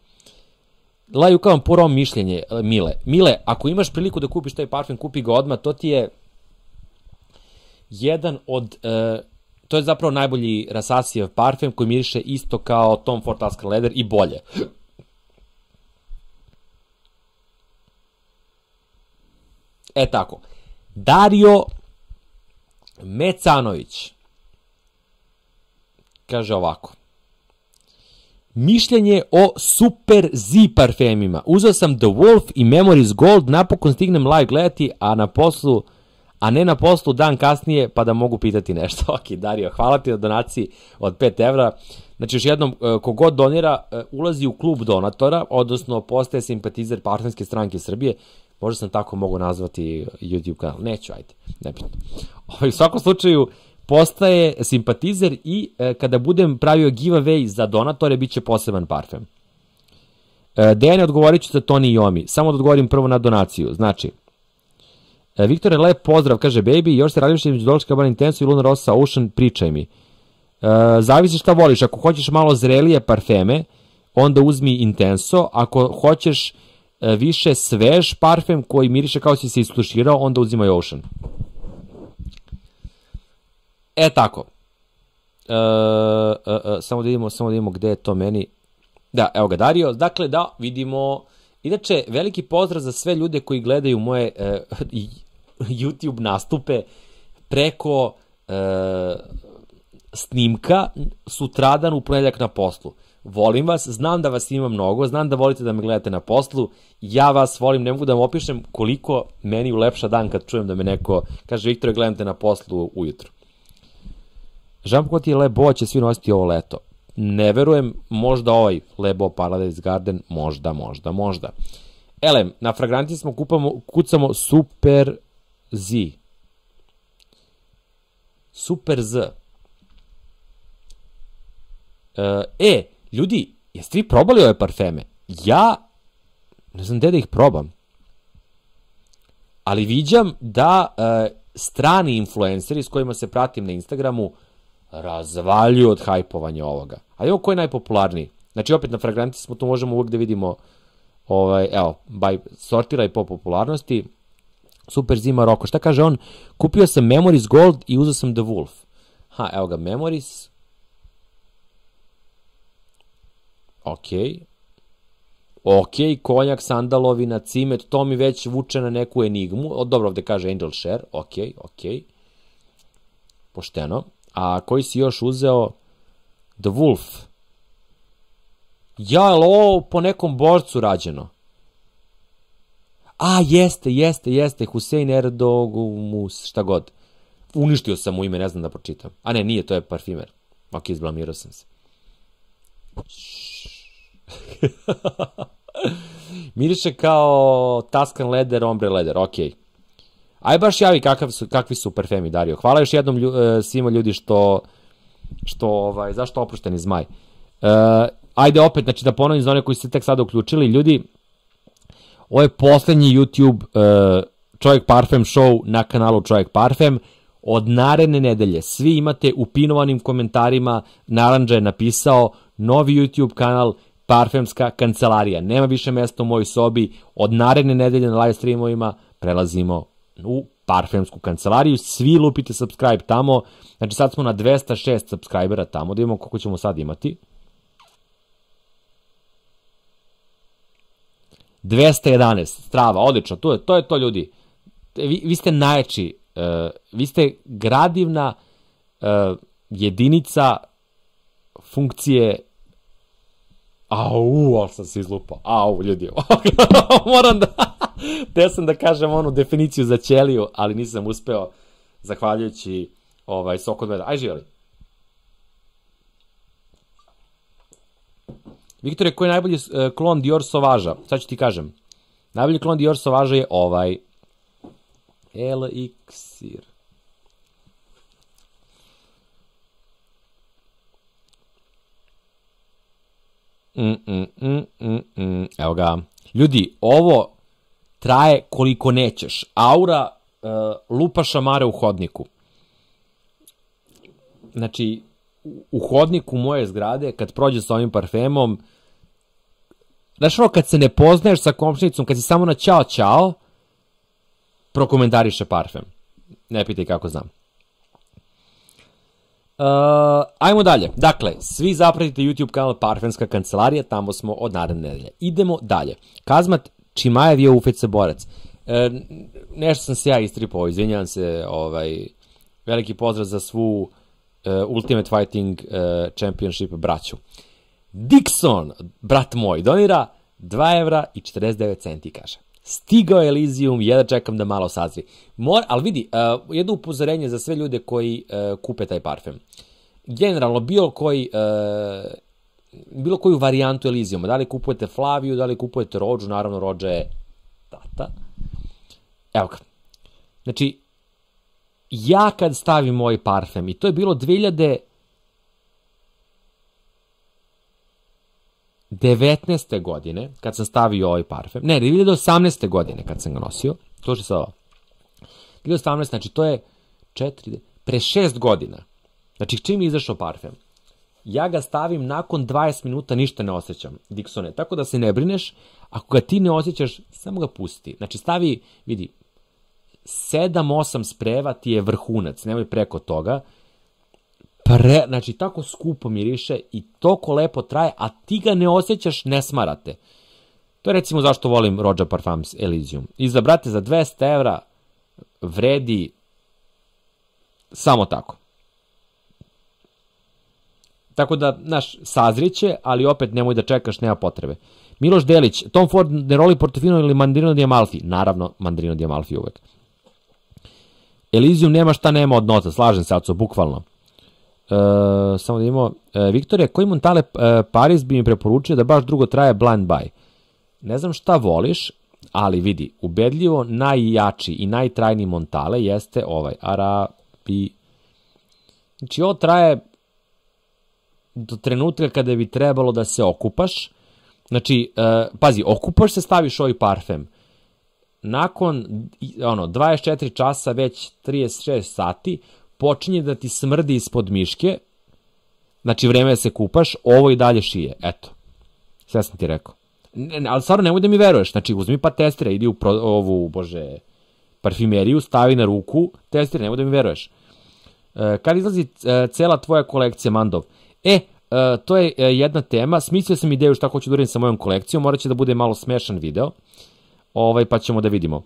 Laju kao vam purao mišljenje, Mile. Mile, ako imaš priliku da kupiš taj parfem, kupi ga odmah, to ti je jedan od, to je zapravo najbolji Rasasijev parfem koji miriše isto kao Tom Ford Tuscan Leather i bolje. Tako. Dario Mecanović kaže ovako. Mišljenje o Super Z parfemima. Uzeo sam The Wolf i Memories Gold, napokon stignem live gledati, a ne na poslu dan kasnije, pa da mogu pitati nešto. Ok, Dario, hvala ti na donaciji od 5 evra. Znači, još jednom, kogod donira, ulazi u klub donatora, odnosno postaje simpatizer Parfemske stranke Srbije. Možda sam tako mogu nazvati YouTube kanal. Neću, ajde, nebitno. U svakom slučaju, postaje simpatizer i kada budem pravio giveaway za donatore, bit će poseban parfem. Dejane, odgovorit ću za Toni i Omi. Samo da odgovorim prvo na donaciju. Znači, Viktore, lep pozdrav, kaže Baby, još se radiš između Dolce Gabbana Intenso i Luna Rossa Ocean, pričaj mi. Zavisi šta voliš, ako hoćeš malo zrelije parfeme, onda uzmi Intenso, ako hoćeš više svež parfem koji miriše kao si se isfluširao, onda uzimaj Ocean. Tako. Samo da vidimo gde je to meni. Da, evo ga Dario. Dakle, da vidimo. Inače, veliki pozdrav za sve ljude koji gledaju moje YouTube nastupe preko snimka sutradan u ponedeljak na poslu. Volim vas, znam da vas ima mnogo, znam da volite da me gledate na poslu, ja vas volim, ne mogu da vam opišem koliko meni ulepša dan kad čujem da me neko kaže Viktore, gledam te na poslu ujutru. Jean-Paul ti je Lebo, će svi nositi ovo leto. Ne verujem, možda ovaj Lebo Paradise Garden, možda. Elem, na fragranti smo kucamo Super Z. Super Z. Ljudi, jeste vi probali ove parfeme? Ja ne znam gde da ih probam. Ali viđam da strani influenceri s kojima se pratim na Instagramu razvaljuju od hajpovanja ovoga. A evo ko je najpopularniji? Znači opet na fragranti smo, tu možemo uvijek da vidimo, evo, sortiraj po popularnosti. Super Zima Roko. Šta kaže on? Kupio sam Memories Gold i uzeo sam The Wolf. Evo ga, Memories. Ok, konjak, sandalovina, cimet, to mi već vuče na neku enigmu. Dobro, ovde kaže Angel Share. Ok. Pošteno. A koji si još uzeo? The Wolf. Ja, ovo po nekom borcu rađeno. Jeste. Hussein Erdogumus, šta god. Uništio sam mu ime, ne znam da pročitam. A ne, nije, to je parfimer. Ok, izblamirao sam se. Miriše kao Tuscan Leather, Ombre Leather, ok. Aj baš javi kakvi su parfemi, Dario. Hvala još jednom svima ljudi zašto oprošteni zmaj. Ajde opet, znači da ponovim za one koji ste tek sada uključili, ljudi, ovo je poslednji YouTube Čovjek Parfem show na kanalu Čovjek Parfem. Od naredne nedelje svi imate u pinovanim komentarima, Narandža je napisao, novi YouTube kanal Parfemska kancelarija. Nema više mesta u mojoj sobi. Od naredne nedelje na live streamovima prelazimo u Parfemsku kancelariju. Svi lupite subscribe tamo. Znači sad smo na 206 subscribera tamo. Da vidimo koliko ćemo sad imati. 211. Strava, odlično. To je to, ljudi. vi ste najjači, vi ste gradivna jedinica funkcije. Ali sam se izlupao. Ljudi. Moram da sam da kažem onu definiciju za ćeliju, ali nisam uspeo, zahvaljujući sok od meda. Aj, živjeli. Viktore, koji je najbolji klon Dior Sauvage-a? Sad ću ti kažem. Najbolji klon Dior Sauvage-a je ovaj. Elixir. Evo ga. Ljudi, ovo traje koliko nećeš. Aura lupa šamare u hodniku. Znači, u hodniku moje zgrade, kad prođe sa ovim parfemom, znaš ono, kad se ne poznaješ sa komšinicom, kad si samo na ćao, prokomentariše parfem. Ne pitaj kako znam. Ajmo dalje. Dakle, svi zapratite YouTube kanal Parfemska kancelarija, tamo smo od naredne nedelje. Idemo dalje. Kazmat Čimajev je UFC borac. Nešto sam se ja istripao, izvinjavam se, veliki pozdrav za svu Ultimate Fighting Championship braću. Dixon, brat moj, donira 2 evra i 49 centi, kaže. Stigao je Elysium, jedva čekam da malo sazri. Ali vidi, jedno upozorenje za sve ljude koji kupe taj parfem. Generalno, bilo koju varijantu Elysiuma, da li kupujete Flaviju, da li kupujete Rođu, naravno Rođa je tata. Evo ga. Znači, ja kad stavim moj parfem, i to je bilo 2019. godine, kad sam stavio ovaj parfem, ne, 2018. godine kad sam ga nosio, to što se ovo, 2018. znači to je pre 6 godina, znači čim je izašao parfem, ja ga stavim nakon 20 minuta, ništa ne osjećam, Dixone, tako da se ne brineš, ako ga ti ne osjećaš, samo ga pusti, znači stavi, vidi, 7-8 spreva ti je vrhunac, nemoj preko toga, znači tako skupo miriše i toliko lepo traje, a ti ga ne osjećaš, ne smarate. To je recimo zašto volim Rođa Parfums Elysium. I za, brate, za 200 evra vredi samo tako. Tako da, znaš, sazriće, ali opet nemoj da čekaš, nema potrebe. Miloš Delić, Tom Ford, Neroli Portofino ili Mandarino di Amalfi? Naravno, Mandarino di Amalfi uvek. Elysium nema šta nema od noca, slažem se, Aco, bukvalno. Samo da imamo. Viktore, koji Montale Paris bi mi preporučio da baš drugo traje blind buy? Ne znam šta voliš, ali vidi, ubedljivo najjači i najtrajniji Montale jeste ovaj Arabi. Znači, ovo traje do trenutka kada bi trebalo da se okupaš. Znači, pazi, okupaš se, staviš ovaj parfem. Nakon 24 časa, već 36 sati, počinje da ti smrdi ispod miške, znači vreme da se kupaš, ovo i dalje šije, eto. Sve sam ti rekao. Ali stvarno nemoj da mi veruješ, znači uzmi pa testire, idi u ovu, parfimeriju, stavi na ruku, testire, nemoj da mi veruješ. Kad izlazi cela tvoja kolekcija, Mandov? To je jedna tema, smislio sam ideju šta hoću da uradim sa mojom kolekcijom, morat će da bude malo smešan video, pa ćemo da vidimo.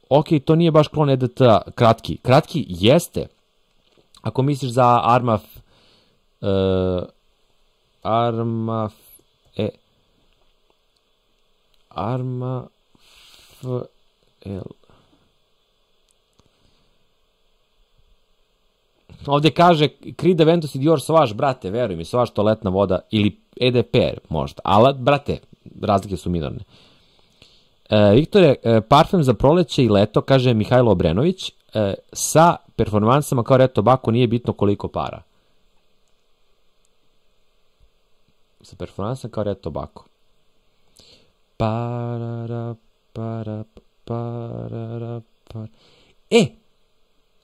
Ok, to nije baš klon EDT-a, kratki jeste, ako misliš za ovde kaže Creed Aventus i Dior Sauvage, brate, veruj mi, Sauvage toaletna voda ili EDP možda, ali, brate, razlike su minorne. Viktore, parfem za proleće i leto, kaže Mihajlo Obrenović, sa performansama kao Red Tobacco nije bitno koliko para. Sa performansama kao Red Tobacco.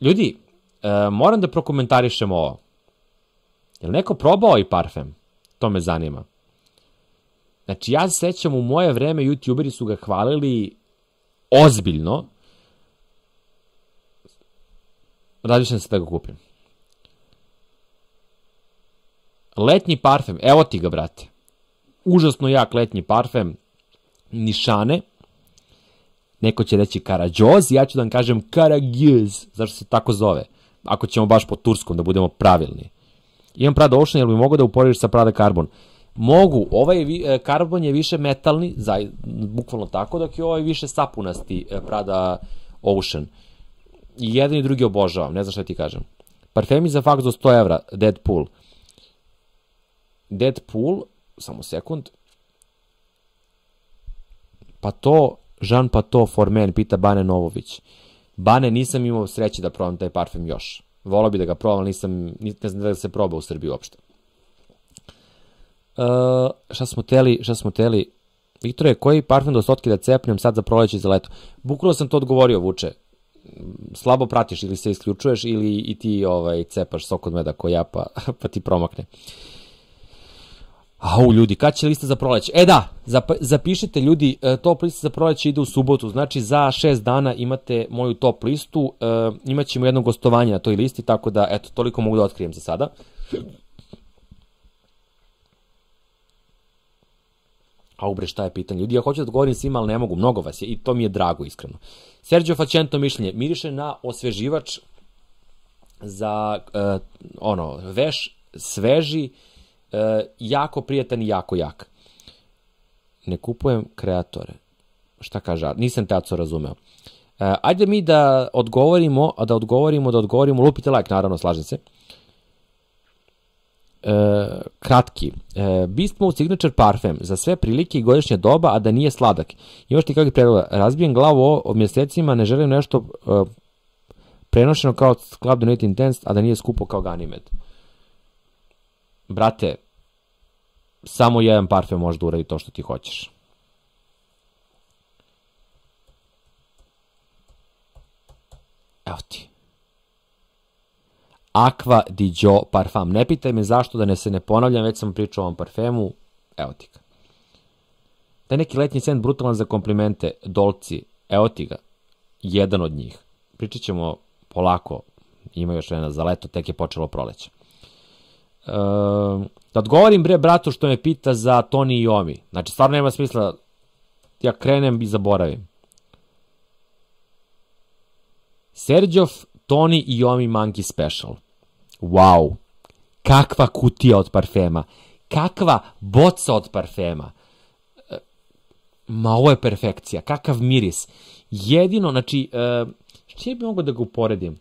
Ljudi, moram da prokomentarišem ovo. Je li neko probao ovaj parfem? To me zanima. Znači, ja se sećam, u moje vreme youtuberi su ga hvalili ozbiljno. Razmišljam se da ga kupim. Letnji parfem, evo ti ga, brate. Užasno jak letnji parfem, nišane. neko će reći Karađoz, ja ću da vam kažem Karagjöz, zašto se tako zove, ako ćemo baš po turskom da budemo pravilni. Imam Prada Ocean, jel bi mogo da uporediš sa Prada Carbon? Mogu, ovaj Carbon je više metalni, bukvalno tako, dok je ovaj više sapunasti Prada Ocean. I jedan i drugi obožavam, ne znam šta ti kažem. Parfemi za faks do 100 evra, Deadpool. Deadpool, samo sekund. Pa to, Jean Pato for Men, pita Bane Novović. Bane, nisam imao sreće da probam taj parfem još. Volao bi da ga probam, ali ne znam da se proba u Srbiji uopšte. Šta smo teli? Viktore, koji parfem do sotke da cepnem sad za proleće i za leto? Bukvalno sam to odgovorio, Vuče. Slabo pratiš, ili se isključuješ, ili i ti cepaš sok od meda ko ja, pa ti promakne. Au, ljudi, kad će lista za proleće? Da, zapišite, ljudi, top lista za proleće ide u subotu, znači za 6 dana imate moju top listu, imat ćemo jedno gostovanje na toj listi, tako da, eto, toliko mogu da otkrijem za sada. Au bre, šta je pitanje? Ljudi, ja hoću da odgovorim svima, ali ne mogu, mnogo vas je i to mi je drago, iskreno. Sergio Facento mišljenje, miriše na osveživač za, veš, sveži, jako prijatan i jako jak. Ne kupujem kreatore. Šta kaže? Nisam teaco razumeo. Ajde mi da odgovorimo, lupite like, naravno, slažem se. Kratki. Beast Mode Signature Parfem za sve prilike i godišnje doba, a da nije sladak. Imaš ti kakvih predloga? Razbijem glavu o mjesecima, ne želim nešto prenošeno kao Club Donate Intense, a da nije skupo kao Ganymede. Brate, samo jedan parfem može da uradi to što ti hoćeš. Evo ti. Aqua di Gio parfum. Ne pitaj me zašto, da se ne ponavljam, već sam pričao o ovom parfemu. Evo ti ga. Taj neki letnji scent brutalan za komplimente. Dolci. Evo ti ga. Jedan od njih. Pričat ćemo polako. Ima još vremena za leto, tek je počelo proleće. Da odgovorim bratu što me pita za Toni i Omi. Znači, stvarno nema smisla. Ja krenem i zaboravim. Serđov Toni i Omi Monkey Special. Wow. Kakva kutija od parfema. Kakva boca od parfema. Ma, ovo je perfekcija. Kakav miris. Jedino, znači, što bi mogo da ga uporedim?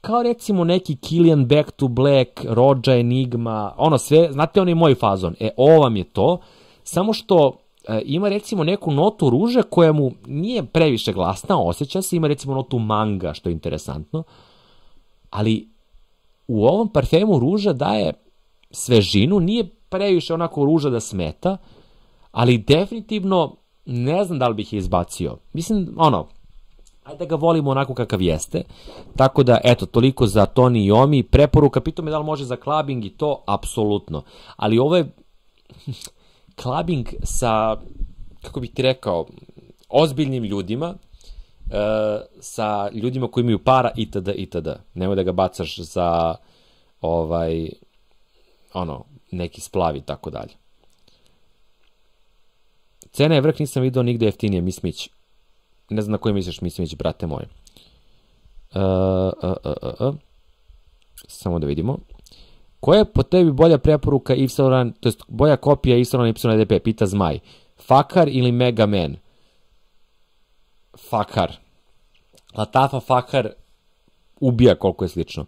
Kao recimo neki Kilian Back to Black, Roja Enigma, sve, znate onaj moj fazon. Ovo vam je to. Samo što ima recimo neku notu ruže koja mu nije previše glasna, osjeća se, ima recimo notu manga, što je interesantno. Ali u ovom parfemu ruža daje svežinu, nije previše onako ruža da smeta, ali definitivno ne znam da li bih je izbacio. Mislim, ajde da ga volimo onako kakav jeste. Tako da, eto, toliko za Toni i Omi. Preporuka, pitao me da li može za clubbing i to, apsolutno. Ali ovo je clubbing sa, kako bih ti rekao, ozbiljnim ljudima, sa ljudima koji imaju para itd. itd. Nemoj da ga bacaš za neki splav i tako dalje. Cena je vrh, nisam vidio nigde jeftinije, Mismić. Ne znam na koji misliš, Mismić, brate moj. Samo da vidimo. Koja je po tebi bolja preporuka Yves Saint Laurent, to jest bolja kopija Yves Saint Laurent YDP, pita Zmaj. Fakar ili Mega Man? Fakar. Latafa Fakar ubija koliko je slično.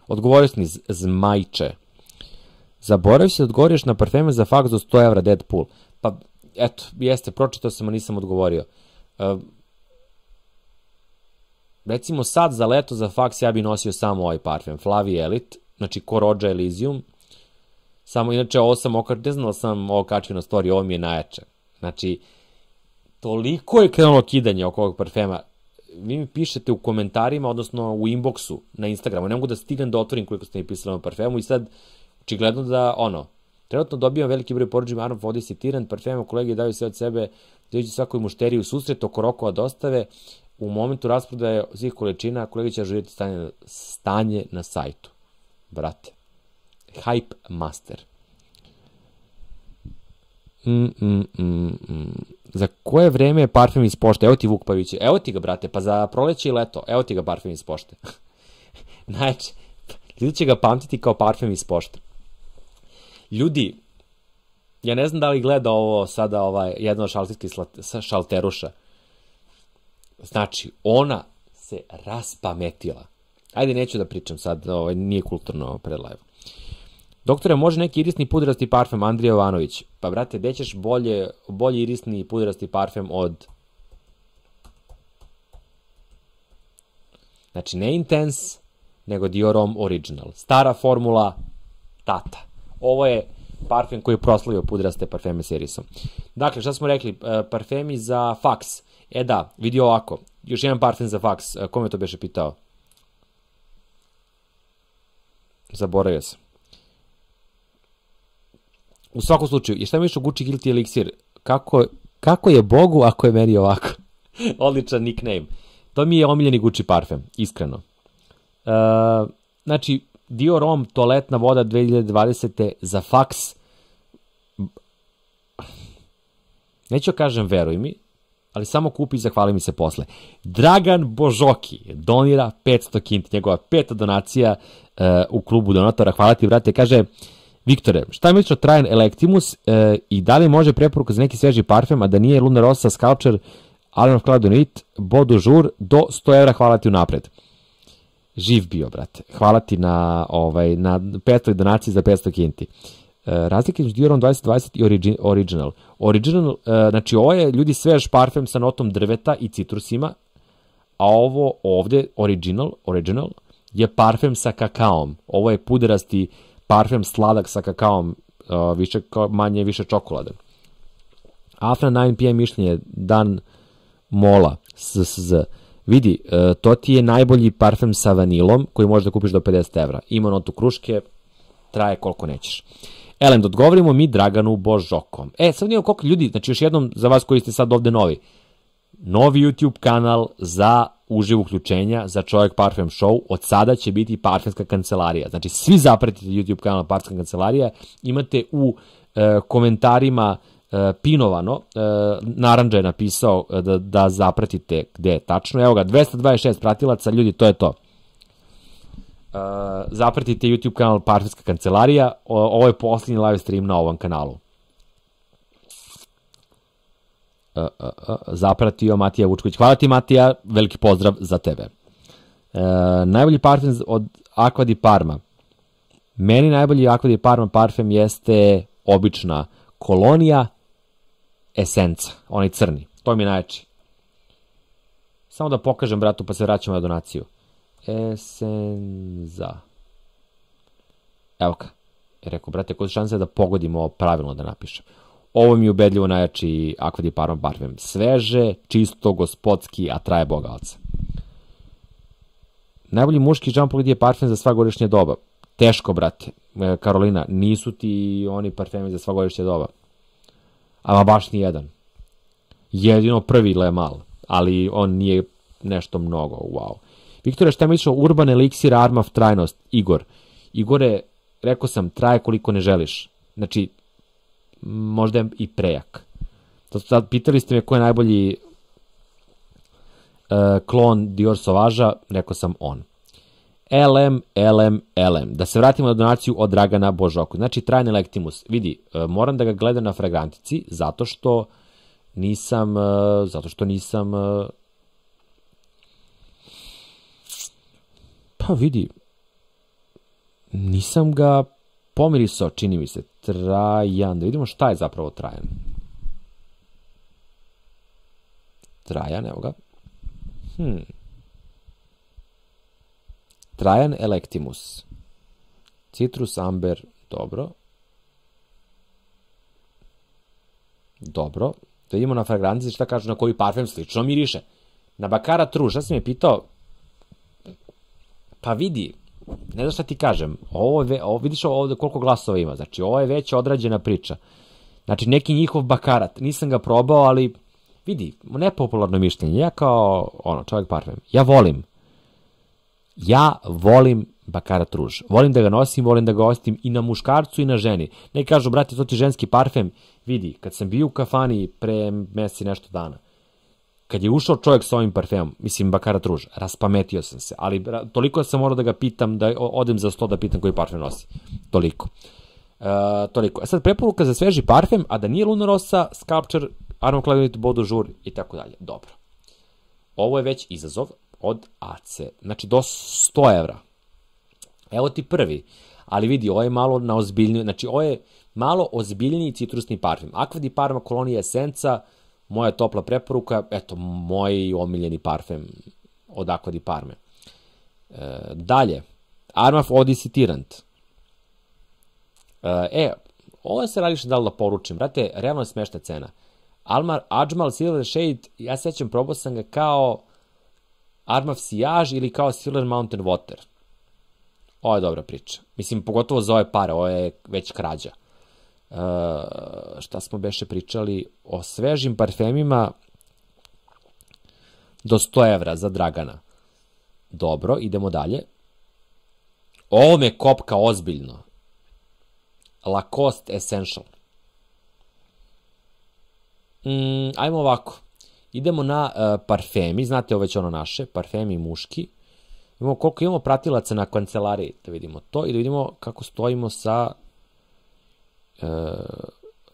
Odgovorio si mi Zmajče. Zaboravio si da odgovoriš na parfeme za faks do 100 evra Deadpool. Pa, eto, jeste, pročitao sam, a nisam odgovorio. Recimo sad za leto za faks ja bi nosio samo ovaj parfem, Flavi Elite, znači ko Roja Elysium. Samo, inače, ovo sam ne znam da sam ovo kačio na story, ovo mi je najjače. Znači, toliko je krenulo kidanje oko ovog parfema. Vi mi pišete u komentarima, odnosno u inboxu na Instagramu. Ne mogu da stignem da otvorim koliko ste mi pisali o parfemu i sad, očigledno da, trenutno dobijam veliki broj poručima Arnold Vodis i Tirant, parfema, kolege daju sve od sebe, dođu svakoj mušteriji u susret, oko rokova dostave, u momentu rasprodaje svih količina, kolege će ažuriti stanje na sajtu. Brate. Hype Master. Za koje vreme je parfem iz pošte? Evo ti Vuk Pavić. Evo ti ga, brate, pa za proleće i leto. Evo ti ga parfem iz pošte. Znači, ljudi će ga pamtiti kao parfem iz pošte. Ljudi, ja ne znam da li gleda ovo sada jedna od šalterskih šalteruša. Znači, ona se raspametila. Ajde, neću da pričam sad, nije kulturno pred live. Doktore, može neki irisni pudrasti parfem? Andrija Jovanović. Pa, brate, gde ćeš bolji irisni pudrasti parfem od... Znači, ne Intense, nego Dior Homme Original. Stara formula, tata. Ovo je parfem koji je proslavio pudraste parfeme serisom. Dakle, šta smo rekli? Parfemi za faks. Da, vidi ovako. Još jedan parfem za faks. Ko me to beše pitao? Zaboravio sam. U svakom slučaju, i šta misliš o Gucci Guilty Elixir? Kako je Bogu ako je meni ovako? Odličan nickname. To mi je omiljeni Gucci parfem, iskreno. Znači, Dior Homme toaletna voda 2020. za faks. Neću kažem veruj mi, ali samo kupi i zahvali mi se posle. Dragan Božoki donira 500 kinti, njegova 5. donacija u klubu donatora. Hvala ti, brate. Kaže, Viktore, šta misliš o Trajan Electimus i da li može preporuka za neki sveži parfem, a da nije Luna Rossa, Sculpture, Allen of Cloud Unit, Beau du Jour, do 100 evra, hvala ti unapred. Živ bio, brate. Hvala ti na 500 donaciji za 500 kinti. Razlike između Dior Homme 2020 i Original. Original, znači ovo je ljudi svež parfem sa notom drveta i citrusima, a ovo ovde, Original, je parfem sa kakaom. Ovo je puderasti parfem sladak sa kakaom, manje više čokolade. Afra 9 PM mišljenje, Dan Mola, SSZ. Vidi, to ti je najbolji parfem sa vanilom koji možeš da kupiš do 50 evra. Ima notu kruške, traje koliko nećeš. Elem, da odgovorimo mi Draganu Božokom. Sad nijemo koliko ljudi, znači još jednom za vas koji ste sad ovde novi YouTube kanal za uživo uključenja, za Čovjek Parfem Show, od sada će biti Parfemska kancelarija. Znači, svi zapratite YouTube kanal Parfemska kancelarija, imate u komentarima pinovano, Narandža je napisao da zapratite gde je tačno. Evo ga, 226 pratilaca, ljudi, to je to. Zapratite YouTube kanal Parfemska kancelarija, ovo je posljednji live stream na ovom kanalu. Zapratio Matija Vučković. Hvala ti, Matija, veliki pozdrav za tebe. Najbolji parfem od Acqua di Parma. Meni najbolji Acqua di Parma parfem jeste obična kolonija Esenca, onaj crni. To mi je najjači. Samo da pokažem, bratu, pa se vraćamo na donaciju. Esenza. Evo ga. Rekao, brate, koje su šanse da pogodimo ovo pravilno da napišem. Ovo mi je ubedljivo najjači Acqua di Parma parfem. Sveže, čisto, gospodski, a traje Boga oca. Najbolji muški Jean Paul Gaultier parfem za sva godišnja doba. Teško, brate. Karolina, nisu ti oni parfemi za sva godišnja doba. Ama baš ni jedan. Jedino prvi Le Mal, ali on nije nešto mnogo, wow. Viktore, šta misliš o Urban Elixir Armaf trajnost? Igore, rekao sam, traje koliko ne želiš. Znači, možda je i prejak. Sad pitali ste me ko je najbolji klon Dior Sauvage-a, rekao sam on. LM. Da se vratimo na donaciju od Dragana Božoku. Znači, Trajan Electimus. Vidi, moram da ga gledam na fragrantici, zato što nisam pa vidi, nisam ga pomirisao, čini mi se. Trajan, da vidimo šta je zapravo Trajan. Trajan, evo ga. Trajan Electimus. Citrus, amber, dobro. Dobro. Da vidimo na fragrantici šta kažu na koji parfem slično miriše. Na Baccarat Rouge, šta si me pitao? Pa vidi, ne znam šta ti kažem, vidiš ovde koliko glasova ima, znači ovo je već odrađena priča. Znači neki njihov Baccarat, nisam ga probao, ali vidi, nepopularno mišljenje, ja kao čovjek parfem, ja volim Baccarat Rouge. Volim da ga nosim, volim da ga osjetim i na muškarcu i na ženi. Ne kažu, brate, to ti ženski parfem. Vidi, kad sam bio u kafani pre meseci nešto dana, kad je ušao čovjek s ovim parfemom, mislim Baccarat Rouge, raspametio sam se, ali toliko sam morao da ga pitam, da odem za sto da pitam koji parfem nosi. Toliko. Toliko. Sad, preporuka za sveži parfem, a da nije Luna Rossa, Sculpture, Armand Clairvoyant, Beau de Jour i tako dalje. Dobro. Ovo je već izazov od AC. Znači, do 100 evra. Evo ti prvi. Ali vidi, ovo je malo na ozbiljniju, znači, ovo je malo ozbiljniji citrusni parfem. Aqua di Parma Colonia Essenza, moja topla preporuka, eto, moj omiljeni parfem od Aqua di Parme. Dalje, Armaf Odyssey Tyrant. Ovo se radiš da li da poručim, brate, realno je smešna cena. Ajmal Silver Shade, ja sećam, probao sam ga kao Armaf Sillage ili kao Silver Mountain Water. Ovo je dobra priča. Mislim, pogotovo za ove pare, ovo je već krađa. Šta smo beše pričali? O svežim parfemima do 100 evra za Dragana. Dobro, idemo dalje. Ovo me kopka ozbiljno. Lacoste Essential. Ajmo ovako. Idemo na parfemi, znate ovo već ono naše, parfemi muški. Imamo koliko imamo pratilaca na kancelariji, da vidimo to i da vidimo kako stojimo sa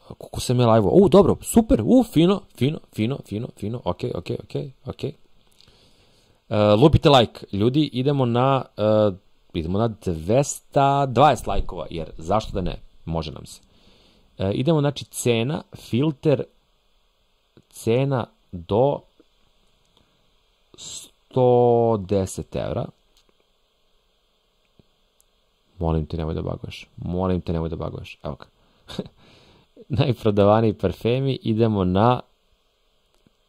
koliko sam je live-o. Dobro, super, fino, ok. Lupite like, ljudi, idemo na 220 lajkova, jer zašto da ne, može nam se. Idemo, znači, cena, filter, cena do 110 evra. Molim te, nemoj da baguješ. Evo ga. Najprodavaniji parfemi, idemo na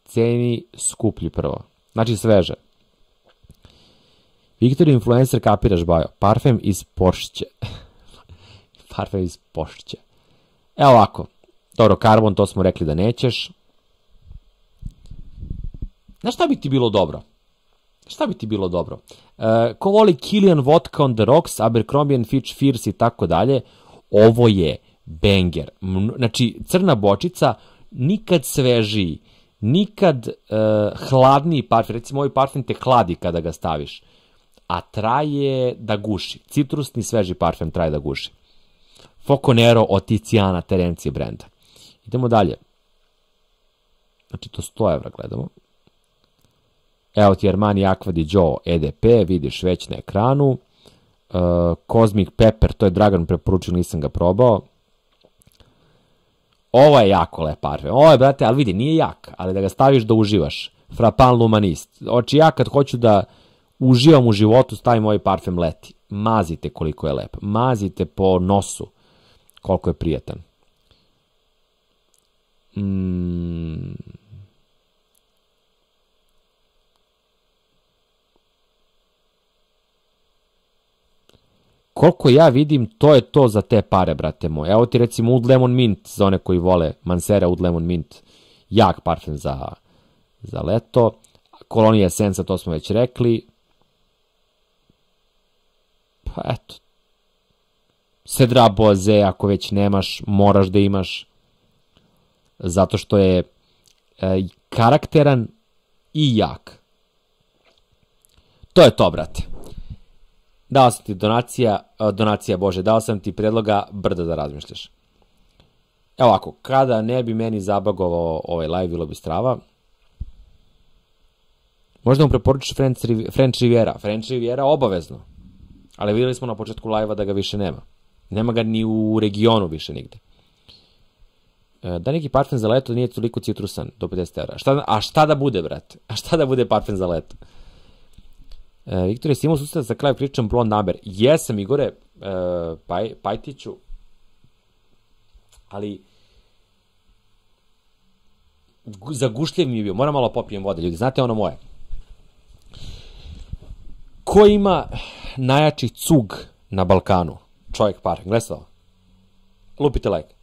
ceni skuplji prvo. Znači sveže. Victor Influencer, kapiraš, Bajo. Parfem iz Porsche. Evo ovako. Dobro, karbon, to smo rekli da nećeš. Znaš šta bi ti bilo dobro? Ko voli Kilian Vodka on the Rocks, Abercrombie & Fitch Fierce i tako dalje, ovo je banger. Znači, crna bočica, nikad svežiji, nikad hladniji parfem. Recimo, ovaj parfem te hladi kada ga staviš, a traje da guši. Citrusni sveži parfem traje da guši. Foco Nero od Tiziana Terencije brenda. Idemo dalje. Znači, to 100 evra gledamo. Evo ti Armani Aqua di Gio EDP, vidiš već na ekranu. Cosmic Pepper, to je Dragan preporučio, nisam ga probao. Ovo je jako lep parfem. Ovo je, brate, ali vidi, nije jak, ali da ga staviš da uživaš. Frappant Lumanist. Oči, ja kad hoću da uživam u životu, stavim ovaj parfem leti. Mazite koliko je lep. Mazite po nosu koliko je prijatan. Koliko ja vidim, to je to za te pare, brate moje. Evo ti recimo Oud Lemon Mint, za one koji vole Mancera Oud Lemon Mint. Jak parfem za leto. Colonia Essenza, to smo već rekli. Pa eto. Cedra Boise, ako već nemaš, moraš da imaš. Zato što je karakteran i jak. To je to, brate. Dao sam ti dao sam ti predloga, brdo da razmišljaš. Evo ovako, kada ne bi meni zabagovao ovaj live, bilo bi strava. Možda mu preporučiš French Riviera. French Riviera obavezno. Ali vidjeli smo na početku live-a da ga više nema. Nema ga ni u regionu više nigde. Da neki parfem za leto nije toliko citrusan do 50 evra. A šta da bude, brate? A šta da bude parfem za leto? Viktor, jesi imao susret za kraj pričam Blond Amber? Jesam, Igore, Pajtiću, ali zagušljiv mi je bio. Moram malo popijem vode, ljudi. Znate ono moje? Ko ima najjači cug na Balkanu? Čovjek parfem. Gledaj se ovo. Lupite like.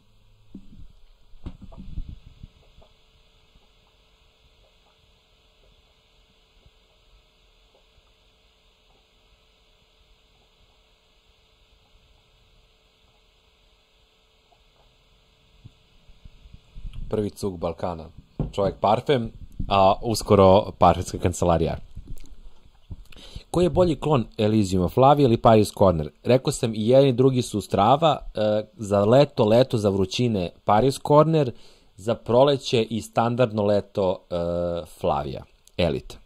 prvi cug Balkana. Čovjek parfem, a uskoro parfemska kancelarija. Koji je bolji klon Elysiuma, Flavia ili Paris Corner? Rekao sam i jedan i drugi su strava, za leto za vrućine Paris Corner, za proleće i standardno leto Flavia, Elite.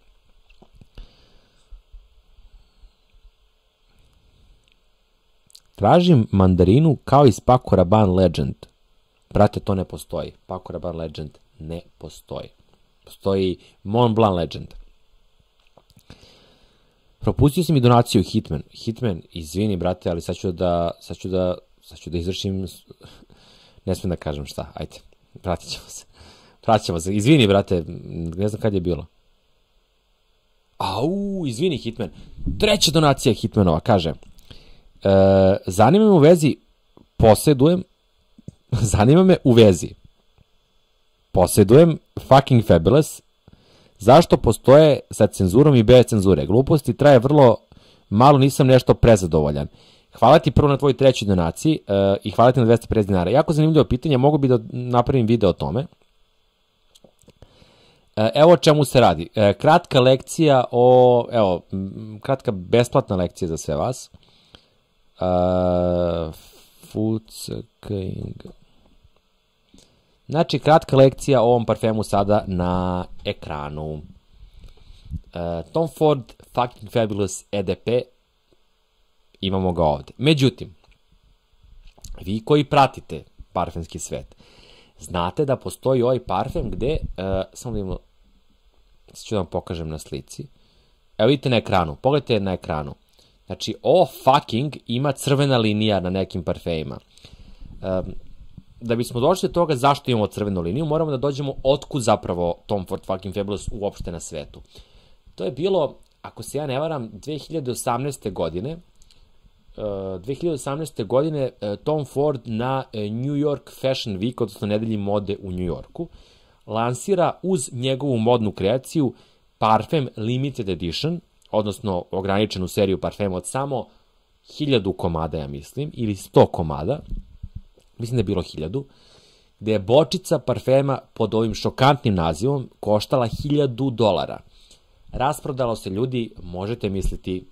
Tražim mandarinu kao iz Paco Rabanne Legend. Brate, to ne postoji. Paco Rabanne Legend ne postoji. Postoji Mont Blanc Legend. Propustio sam i donaciju Hitman. Hitman, izvini, brate, ali sad ću da izvršim... Ne smijem da kažem šta, ajde. Vratit ćemo se. Izvini, brate, ne znam kad je bilo. Izvini, Hitman. Treća donacija Hitmanova, kaže... zanima me u vezi posjedujem fucking fabulous, zašto postoje sa cenzurom i bez cenzure, gluposti traje vrlo malo, nisam nešto prezadovoljan. Hvala ti prvo na tvoj trećoj donaciji i hvala ti na 250 dinara. Jako zanimljivo pitanje, mogu bi da napravim video o tome. Evo o čemu se radi. Kratka lekcija kratka besplatna lekcija za sve vas. Znači, kratka lekcija o ovom parfemu sada na ekranu. Tom Ford Fucking Fabulous EDP, imamo ga ovde. Međutim, vi koji pratite parfemski svet, znate da postoji ovaj parfem gde, samo da imamo, ću da vam pokažem na slici. Evo vidite na ekranu, pogledajte na ekranu. Znači, ovo fucking ima crvena linija na nekim parfemima. Da bismo došli do toga zašto imamo crvenu liniju, moramo da dođemo otkud zapravo Tom Ford Fucking Fabulous uopšte na svetu. To je bilo, ako se ja ne varam, 2018. godine Tom Ford na New York Fashion Week, odnosno nedelji mode u New Yorku, lansira uz njegovu modnu kreaciju parfem Limited Edition, odnosno ograničenu seriju parfema od samo 1000 komada, ja mislim, ili 100 komada, mislim da je bilo 1000, gde je bočica parfema pod ovim šokantnim nazivom koštala $1000. Rasprodalo se, ljudi, možete misliti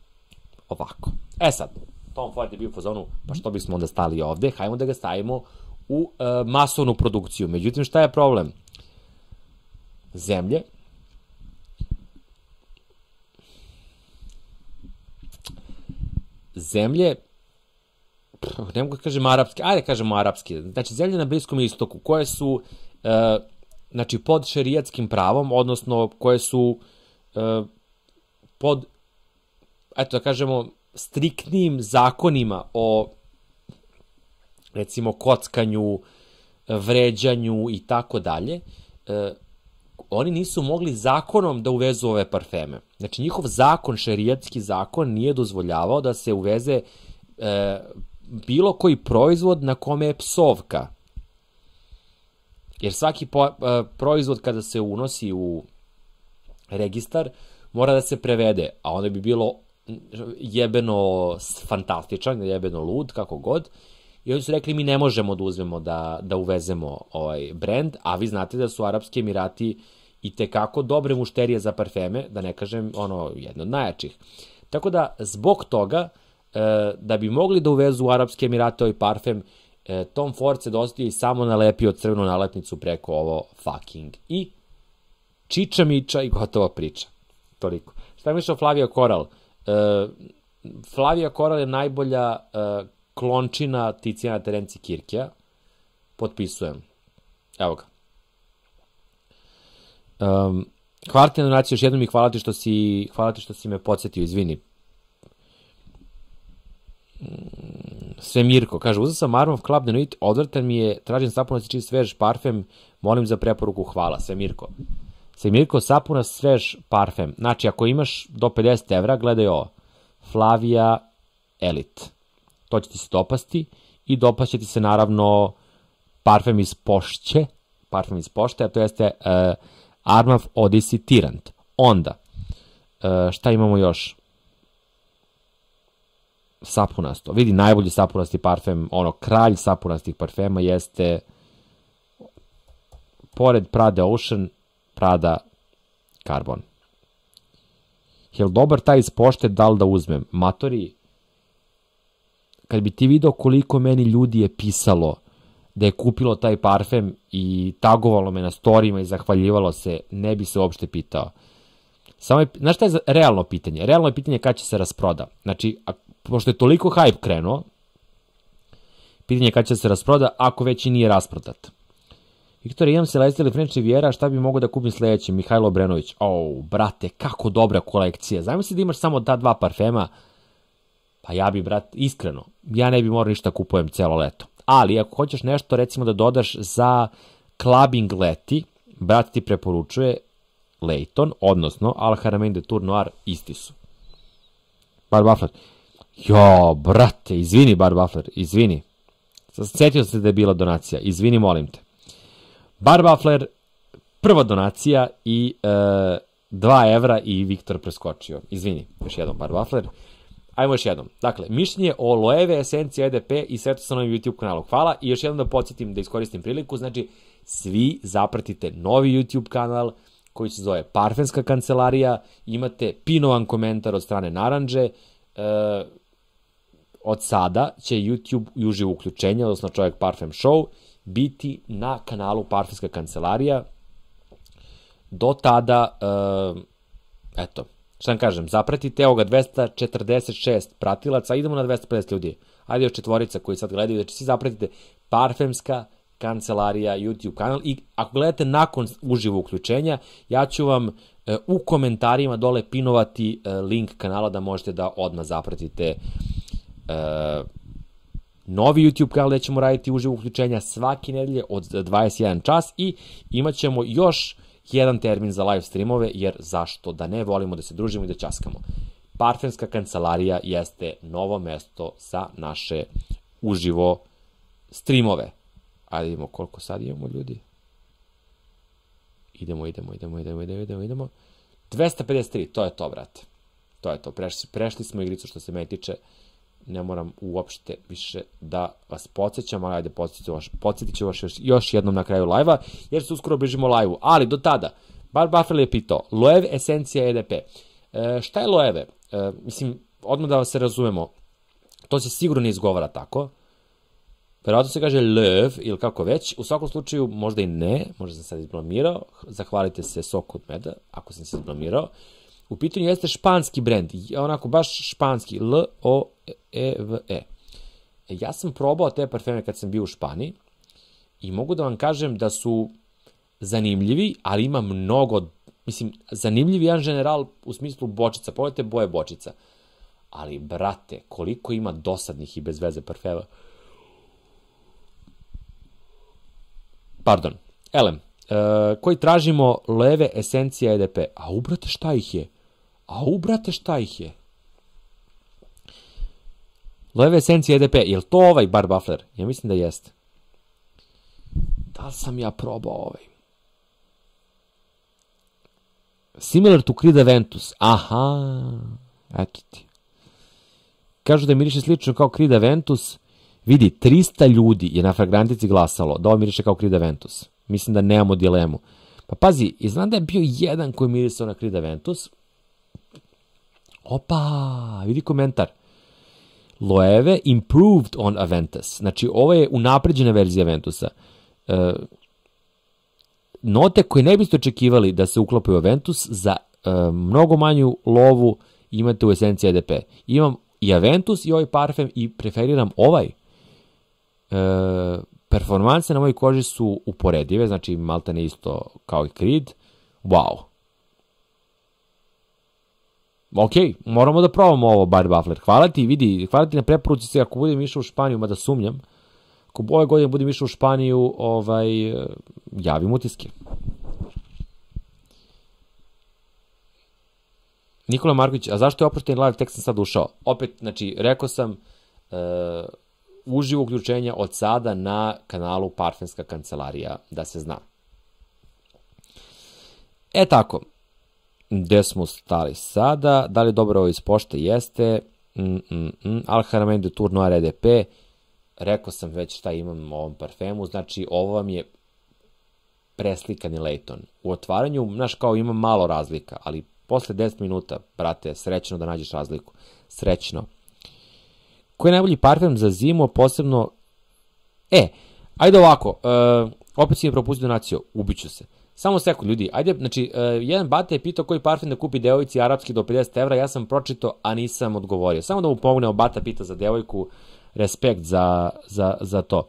ovako. Sad, Tom Ford je bio u fazonu, pa što bismo onda stali ovde, hajmo da ga stavimo u masovnu produkciju. Međutim, šta je problem? Zemlje ne mogu da kažem arapski, ajde kažemo arapski, znači zemlje na Bliskom istoku koje su pod šerijatskim pravom, odnosno koje su pod, eto da kažemo, striktnim zakonima o, recimo, kockanju, vređanju i tako dalje, oni nisu mogli zakonom da uvezu ove parfeme. Znači, njihov zakon, šerijatski zakon, nije dozvoljavao da se uveze bilo koji proizvod na kome je psovka. Jer svaki proizvod kada se unosi u registar mora da se prevede, a onda bi bilo jebeno fantastičan, jebeno lud, kako god. I oni su rekli, mi ne možemo da uzmemo da uvezemo ovaj brend, a vi znate da su Arapski Emirati i tekako dobre mušterije za parfeme, da ne kažem jedno od najjačih. Tako da, zbog toga, da bi mogli da uvezu u Arapske Emirate ovaj parfem, Tom Ford se dosta i samo nalepio crvenu nalepnicu preko ovo fucking. I čiča miča i gotova priča. Toliko. Šta je mišao Flavia Coral? Flavia Coral je najbolja klončina Ticijana Terenci Kirkea. Potpisujem. Evo ga. Hvala ti na donaciju još jednom i hvala ti što si me podsjetio, izvini. Svemirko, kaže, uzeo sam Armov Club de Nuit, odvrtan mi je, tražim sapunac i čist svež parfem, molim za preporuku, hvala. Svemirko, sapunac svež parfem. Znači, ako imaš do 50 evra, gledaj ovo. Flavia Elite. To će ti se dopasti i dopašće ti se naravno parfem iz Pošće, a to jeste Armov Odyssey Tyrant. Onda, šta imamo još? Sapunasto. Vidi, najbolji sapunasti parfem, kralj sapunastih parfema jeste pored Prada Ocean, Prada Carbon. Jel dobar taj iz pošte, da li da uzmem? Matori, kad bi ti video koliko meni ljudi je pisalo da je kupilo taj parfem i tagovalo me na storijima i zahvaljivalo se, ne bi se uopšte pitao. Samo je, znaš šta je realno pitanje? Realno je pitanje kada će se rasproda. Znači, pošto je toliko hype krenuo, pitanje je kada će se rasproda, ako već i nije rasprodat. Viktor, imam Celeste ili French Riviera, šta bi mogo da kupim sledeći? Mihajlo Obrenović. Brate, kako dobra kolekcija. Zamisli da imaš samo ta 2 parfema. Pa ja bi, brate, iskreno, ja ne bi morao ništa kupujem celo leto. Ali, ako hoćeš nešto, recimo da dodaš za clubbing leti, brat ti preporučuje Layton, odnosno Al Haramain de Tour Noir, isti su. Bar Bafler. Brate, izvini Bar Bafler, izvini. Sjetio se da je bila donacija, izvini, molim te. Bar Bafler, prva donacija i 2 evra i Viktor preskočio. Izvini, još jednom Bar Bafler. Ajmo još jednom. Dakle, mišljenje o Loewe esenciji EDP i svetu sa novim YouTube kanalu. Hvala i još jednom da podsjetim, da iskoristim priliku. Znači, svi zapratite novi YouTube kanal koji se zove Parfemska kancelarija. Imate pinovan komentar od strane Naranđe. Od sada će YouTube i uživo uključenje, odnosno Čovjek Parfem Show, biti na kanalu Parfemska kancelarija. Do tada, eto, šta vam kažem, zapratite, evo ga 246 pratilaca, idemo na 250 ljudi. Ajde još 4 koji sad gledaju, znači svi zapratite Parfemska kancelarija YouTube kanal i ako gledate nakon uživo uključenja, ja ću vam u komentarima dole pinovati link kanala da možete da odmah zapratite novi YouTube kanal gde ćemo raditi uživo uključenja svake nedelje od 21 čas i imat ćemo još jedan termin za live streamove, jer zašto da ne, volimo da se družimo i da ćaskamo. Parfemska kancelarija jeste novo mesto za naše uživo streamove. Ajde vidimo koliko sad imamo ljudi. Idemo. 253, to je to, brate. To je to, prešli smo igricu što se meni tiče. Ne moram uopšte više da vas podsjećam, ali ajde podsjetit ću vas još jednom na kraju live-a, jer se uskoro bližimo live-u. Ali do tada, Bar Bafler je pitao, Loewe esencija EDP. Šta je Loewe? Mislim, odmah da se razumemo, to se sigurno ne izgovara tako. Verovatno se kaže Loewe ili kako već. U svakom slučaju, možda i ne, možda sam sad izblamirao. Zahvalite se Soku od meda, ako sam se izblamirao. U pitanju jeste španski brend, onako baš španski, L-O-E-V-E. Ja sam probao te parfeme kad sam bio u Španiji i mogu da vam kažem da su zanimljivi, ali ima mnogo, mislim, zanimljivi jedan general u smislu bočica, pogledajte boje bočica. Ali, brate, koliko ima dosadnih i bez veze parfema. Pardon, elem. Koji tražimo Loewe esencija EDP. Brate, šta ih je? Loewe esencija EDP, je li to ovaj Bar Bafler? Ja mislim da jeste. Da li sam ja probao ovaj? Similar to Creed Aventus. Aha, eto ti. Kažu da miriše slično kao Creed Aventus. Vidi, 300 ljudi je na fragrantici glasalo da ovo miriše kao Creed Aventus. Mislim da nemamo dilemu. Pa pazi, i znam da je bio jedan koji mirisao na Creed Aventus. Opa, vidi komentar. Loewe improved on Aventus. Znači, ovo je unapređena verzija Aventusa. Note koje ne biste očekivali da se uklopaju u Aventus, za mnogo manju lovu imate u esenciji EDP. Imam i Aventus i ovaj parfem i preferiram ovaj. Performanse na mojoj koži su uporedive, znači maltene isto kao i Creed. Wow. Ok, moramo da probamo ovo, Bar Bafler. Hvala ti na preporuci se, ako budem išao u Španiju, mada sumnjam, ako ove godine budem išao u Španiju, javim utiske. Nikola Marković, a zašto je oprošten live, tek sam sad ušao? Opet, znači, rekao sam, uživo uključenja od sada na kanalu Parfemska kancelarija, da se zna. Tako, gde smo stali sada? Da li je dobro ovo iz pošte? Jeste. Al Haramain de Tour Noir EDP. Rekao sam već šta imam u ovom parfemu, znači ovo vam je preslikani Layton. U otvaranju, znaš, kao ima malo razlika, ali posle 10 minuta, brate, srećno da nađeš razliku. Srećno. Koji je najbolji parfem za zimu, posebno... Ajde ovako, opet si mi propustio donaciju, ubiću se. Samo sekund, ljudi, ajde, znači, jedan bate je pitao koji parfem da kupi devojci arapski do 50 evra, ja sam pročitao, a nisam odgovorio. Samo da mu pomognemo, bata pita za devojku, respekt za to,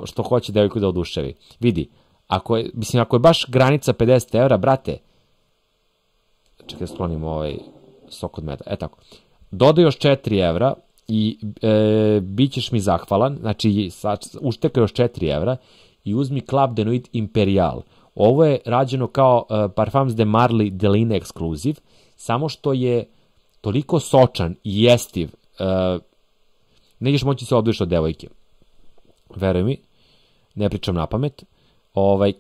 što hoće devojku da oduševi. Vidi, ako je baš granica 50 evra, brate, čekaj, sklonim sok od meda, tako, dodaj još 4 evra i bit ćeš mi zahvalan, znači, uštekaj još 4 evra i uzmi Club de Nuit Imperial. Ovo je rađeno kao Parfums de Marly Deline ekskluziv, samo što je toliko sočan i jestiv, nećeš moći se odliš od devojke. Veruj mi, ne pričam na pamet,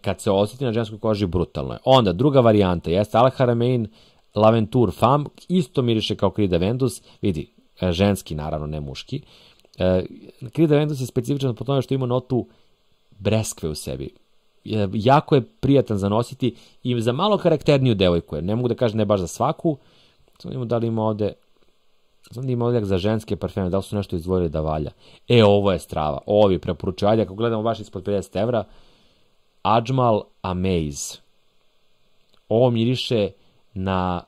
kad se osjeti na ženskoj koži, brutalno je. Onda, druga varijanta jeste Al Haramain Laventure Femme, isto miriše kao Creed Aventus, vidi, ženski naravno, ne muški. Creed Aventus je specifičan po tome što ima notu breskve u sebi. Jako je prijatan za nositi i za malo karakterniju devojku. Ne mogu da kažem ne baš za svaku. Samo imamo da li ima ovde... Znam da ima ovdje za ženske parfeme, da li su nešto izdvojili da valja. Ovo je strava. Ovo bi preporučio. Ajde, ako gledamo baš ispod 50 evra, Ajmal Amaze. Ovo miriše na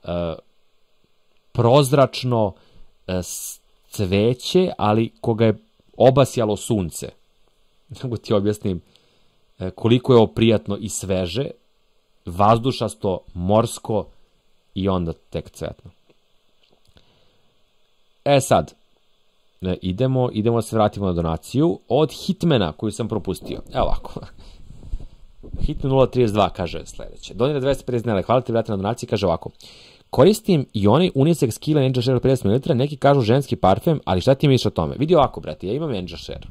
prozračno cveće, ali koga je obasjalo sunce. Mogu ti objasnim koliko je ovo prijatno i sveže, vazdušasto, morsko i onda tek cvetno. Sad, idemo da se vratimo na donaciju od Hitmana koju sam propustio. Evo ovako. Hitman 032 kaže sledeće. Donira 250 dinara, hvala ti vrati na donaciji, kaže ovako. Koristim i onaj unisex Kila Angel Share 50 ml, neki kažu ženski parfem, ali šta ti misliš o tome? Vidi ovako, brati, ja imam Angel Share.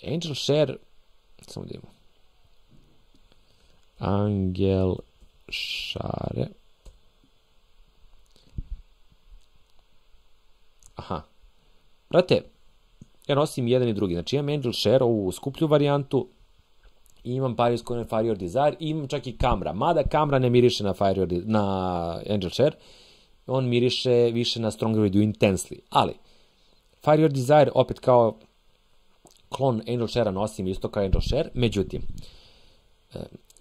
Angel Share, samo da imamo. Angel Share. Aha. Brate, ja nosim jedan i drugi. Znači imam Angel Share, ovu skuplju varijantu, i imam Paris Coin Fire Desire, i imam čak i Camra. Mada Camra ne miriše na Angel Share, on miriše više na Stronger With You Intensely. Ali, Fire Desire opet kao klon Angel Share-a nosim isto kao Angel Share, međutim,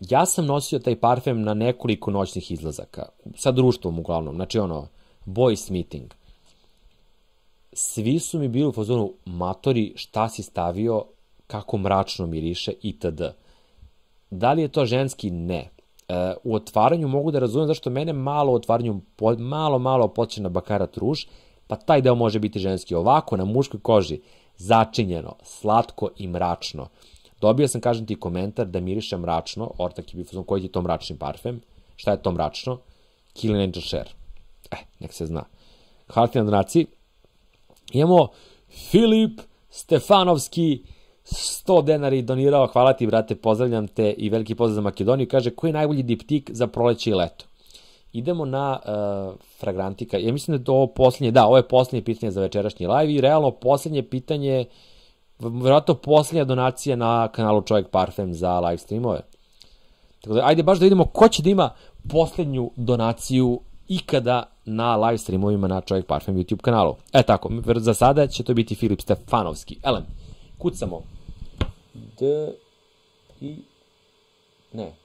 ja sam nosio taj parfem na nekoliko noćnih izlazaka, sa društvom uglavnom, znači boys meeting. Svi su mi bili u fazonu, matori, šta si stavio, kako mračno miriše, itd. Da li je to ženski? Ne. U otvaranju mogu da razumem zašto mene malo u otvaranju malo podsjeća na Baccarat Rouge, pa taj deo može biti ženski. Ovako, na muškoj koži, začinjeno, slatko i mračno. Dobio sam, kažem ti, komentar da miriše mračno, ortak je bio fazon, koji ti je to mračni parfem? Šta je to mračno? Killing Angel Share. Nek se zna. Hvala ti na donaciji. Imamo Filip Stefanovski, 100 dinara donirao, hvala ti, brate, pozdravljam te i veliki pozdrav za Makedoniju. Kaže, koji je najbolji diptik za proleće i leto? Idemo na Fragrantika. Ja mislim da je to ovo posljednje, ovo je posljednje pitanje za večerašnji live i realno posljednje pitanje, vjerojatno posljednja donacija na kanalu Čovjek Parfem za live streamove. Tako da, ajde baš da vidimo ko će da ima posljednju donaciju ikada na live streamovima na Čovjek Parfem YouTube kanalu. Tako, za sada će to biti Filip Stefanovski. Elem, kucamo.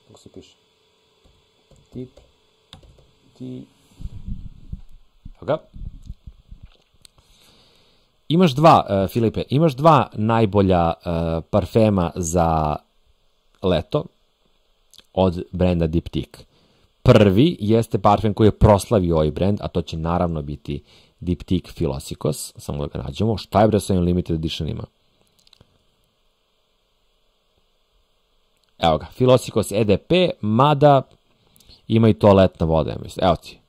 Kako se piše? Imaš dva, Filipe, imaš dva najbolja parfema za leto od brenda Diptyque. Prvi jeste parfem koji je proslavio ovaj brend, a to će naravno biti Diptyque Philosikos. Samo da ga nađemo. Šta je bre sa ovim limited editionima? Evo ga, Philosikos EDP, mada ima i toaletna voda, ja mislim. Evo ti,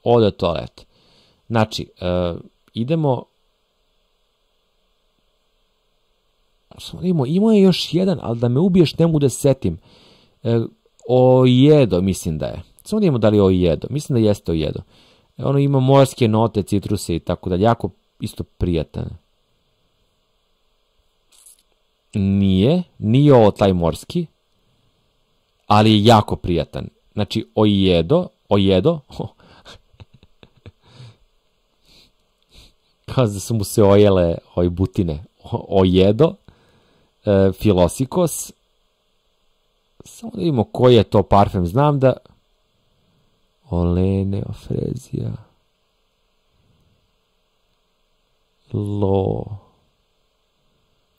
ovde je toalet. Znači, idemo... Imao je još jedan, ali da me ubiješ ne mogu da se setim. Ojedo, mislim da je. Samo da imamo da li je ojedo. Mislim da jeste ojedo. Ono ima morske note, citruse i tako da. Jako isto prijatan. Nije ovo taj morski, ali je jako prijatan. Znači, ojedo, kao da su mu se ojele butine, ojedo, filosikos, samo da vidimo koji je to parfem, znam da, Olene, Ofrezija,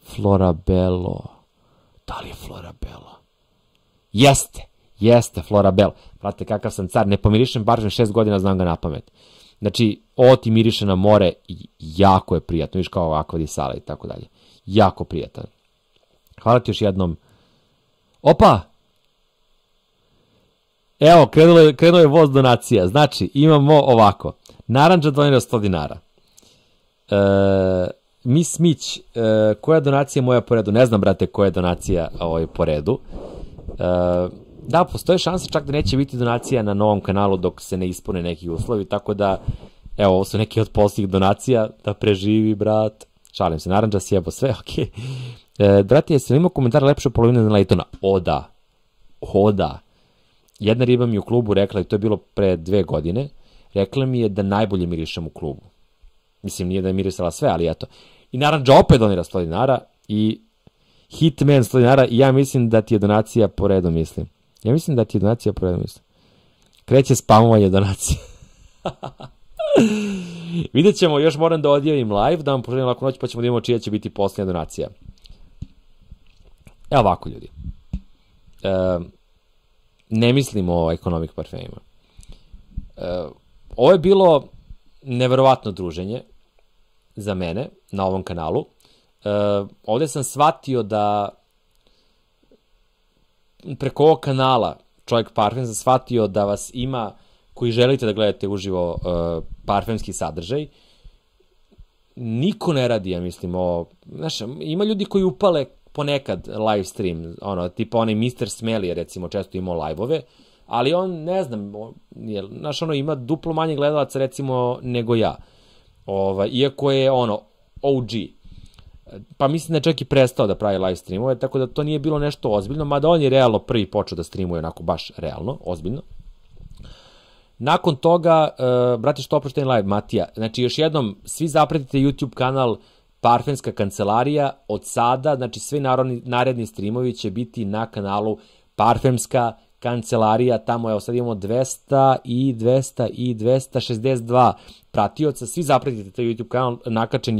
Florabello, da li je Florabello? Jeste Florabello. Prate kakav sam car, ne pomirišem parfem 6 godina, znam ga na pamet. Znači, ovo ti miriše na more, jako je prijatno, viš kao akva di sala i tako dalje. Jako prijatan. Hvala ti još jednom. Opa! Evo, krenuo je voz donacija. Znači, imamo ovako. Narandža donira 100 dinara. Miss Mić, koja je donacija moja po redu? Ne znam, brate, koja je donacija po redu. Da, postoje šansa čak da neće biti donacija na novom kanalu dok se ne ispune neki uslovi, tako da, evo, ovo su neki od posljednjih donacija, da preživi, brat. Šalim se, narandža si jebo sve, okej. Brate, jesi li imao komentar lepše polovine na Laytona? O da. Jedna riba mi u klubu rekla, i to je bilo pre 2 godine, rekla mi je da najbolje mirišem u klubu. Mislim, nije da je mirisala sve, ali eto. I narandža opet donira 100 dinara i Hitman 100 dinara i ja mislim da ti je donacija po redu, mislim. Kreće spamovanje donacije. Vidjet ćemo, još moram da odjavim live, da vam poželim laku noć, pa ćemo da imamo čija će biti posljednja donacija. Evo ovako, ljudi. Ne mislimo o economic parfemima. Ovo je bilo neverovatno druženje za mene na ovom kanalu. Ovde sam shvatio da preko ovog kanala Čovjek parfem sam shvatio da vas ima koji želite da gledate uživo parfemski sadržaj. Niko ne radi, ja mislim, znaš, ima ljudi koji upale ponekad live stream, tipa onaj Mr. Smelly, recimo, često imao live-ove, ali on, ne znam, znaš, ima duplo manje gledalaca, recimo, nego ja. Iako je, OG. Pa mislim da je čak i prestao da pravi live streamove, tako da to nije bilo nešto ozbiljno, mada on je realno prvi počeo da streamuje, onako baš realno, ozbiljno. Nakon toga, brate, što oprošten live, Matija, znači još jednom, svi zapratite YouTube kanal Parfemska kancelarija, od sada, znači svi naredni streamovi će biti na kanalu Parfemska kancelarija, tamo, evo sad imamo 200 i 262 pratioca, svi zapratite taj YouTube kanal, nakačen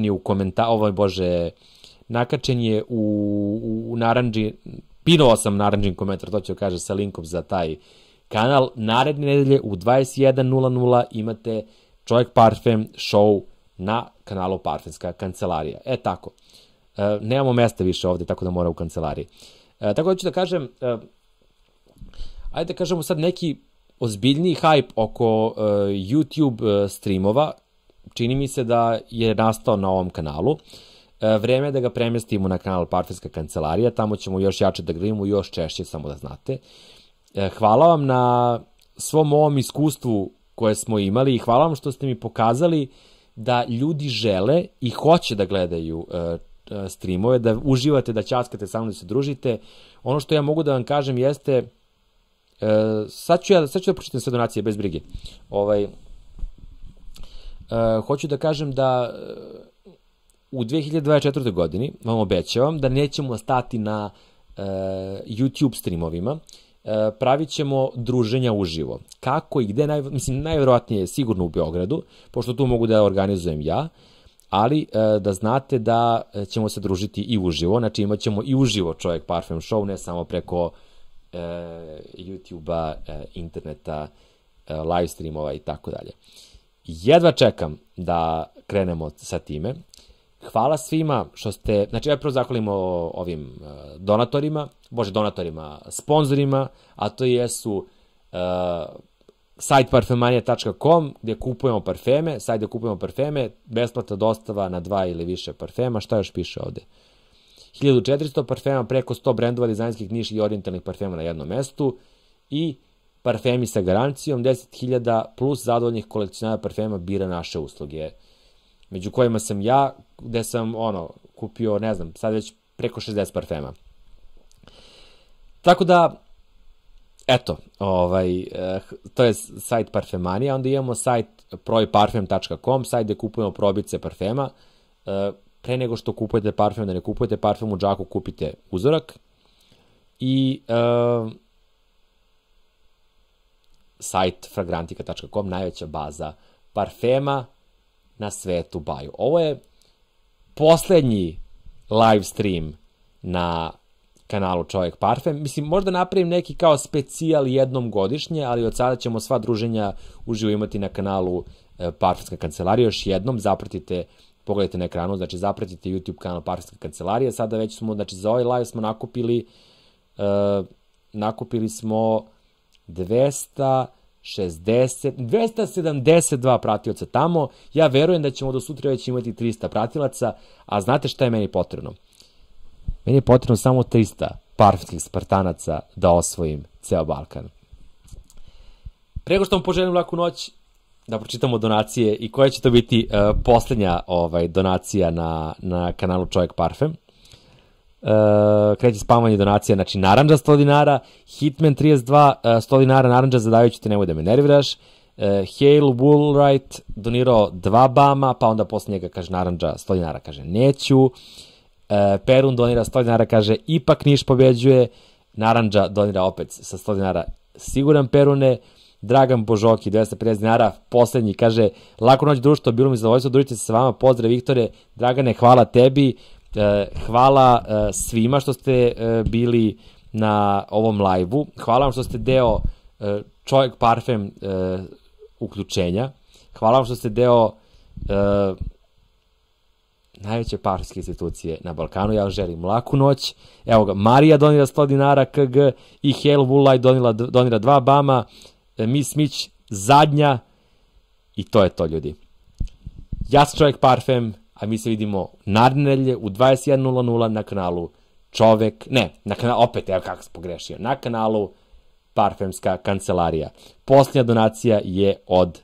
je u komentar, nakačen je u naranđi, pinovao sam naranđin komentar, to ću da kaže sa linkom za taj kanal. Naredne nedelje u 21:00 imate Čovjek parfem show na kanalu Parfemska kancelarija. Tako. Nemamo mesta više ovde, tako da mora u kancelariji. Tako da ću da kažem, ajde da kažemo sad neki ozbiljniji hype oko YouTube streamova. Čini mi se da je nastao na ovom kanalu. Vreme je da ga premestimo na kanal Parfemska kancelarija, tamo ćemo još jače da gledamo, još češće, samo da znate. Hvala vam na svom ovom iskustvu koje smo imali i hvala vam što ste mi pokazali da ljudi žele i hoće da gledaju streamove, da uživate, da ćaskate sa mnom, da se družite. Ono što ja mogu da vam kažem jeste, sad ću da pročitam sve donacije, bez brige. Hoću da kažem da u 2024. godini vam obećavam da nećemo stati na YouTube streamovima, pravit ćemo druženja uživo. Kako i gde, mislim, najverovatnije je sigurno u Beogradu, pošto tu mogu da organizujem ja, ali da znate da ćemo se družiti i uživo, znači imat ćemo i uživo Čovjek parfem show, ne samo preko YouTube-a, interneta, live streamova i tako dalje. Jedva čekam da krenemo sa time. Hvala svima što ste, znači ja prvo zahvalimo ovim sponzorima, a to jesu sajt parfemanija.com gdje kupujemo parfeme, besplatna dostava na 2 ili više parfema, šta još piše ovde? 1400 parfema, preko 100 brendova dizajnskih, niš i orijentalnih parfema na jednom mestu i parfemi sa garancijom, 10.000 plus zadovoljnih kolekcionara parfema bira naše usluge, među kojima sam ja, gde sam kupio, ne znam, sad već preko 60 parfema. Tako da, eto, to je sajt Parfemanija, onda imamo sajt proiparfem.com, sajt gde kupujemo probice parfema. Pre nego što kupujete parfem, da ne kupujete parfem u džaku, kupite uzorak. I sajt fragrantica.com, najveća baza parfema na svetu baju. Ovo je poslednji live stream na kanalu Čovjek Parfem. Mislim, možda napravim neki kao specijal jednom godišnje, ali od sada ćemo sva druženja uživo imati na kanalu Parfemska kancelarija. Još jednom, zapratite, pogledajte na ekranu, znači zapratite YouTube kanal Parfemska kancelarija. Sada već smo, znači za ovaj live smo nakupili smo 272 pratioca tamo. Ja verujem da ćemo do sutra već imati 300 pratilaca, a znate šta je meni potrebno? Meni je potrebno samo 300 parfemskih Spartanaca da osvojim ceo Balkan. Prego što vam poželim laku noć, da pročitamo donacije i koja će to biti poslednja donacija na kanalu Čovjek Parfem. Kreće spavanje donacija, znači Narandža 100 dinara, Hitman 32 100 dinara, Narandža zadajući te nemoj da me nerviraš, Hale Woolwright donirao 2 bama, pa onda posle njega kaže Narandža 100 dinara, kaže neću, Perun donira 100 dinara, kaže ipak Niš pobeđuje, Narandža donira opet sa 100 dinara, siguran Perune, Dragan Božoki 250 dinara, poslednji, kaže laku noć društvo, bilo mi zadovoljstvo, družite se sa vama, pozdrav Viktore, Dragane, hvala tebi, hvala svima što ste bili na ovom live-u, hvala vam što ste deo Čovjek Parfem uključenja, hvala vam što ste deo najveće parfemske institucije na Balkanu, ja vam želim laku noć, evo ga, Marija donira 100 dinara KG i Hale Woolwright donira 2 bama, Miss Smith zadnja i to je to, ljudi. Ja sam Čovjek Parfem, a mi se vidimo naredne nedelje u 21:00 na kanalu Čovjek, ne, na kanalu, opet, evo kako sam pogrešio, na kanalu Parfemska kancelarija. Posljednja donacija je od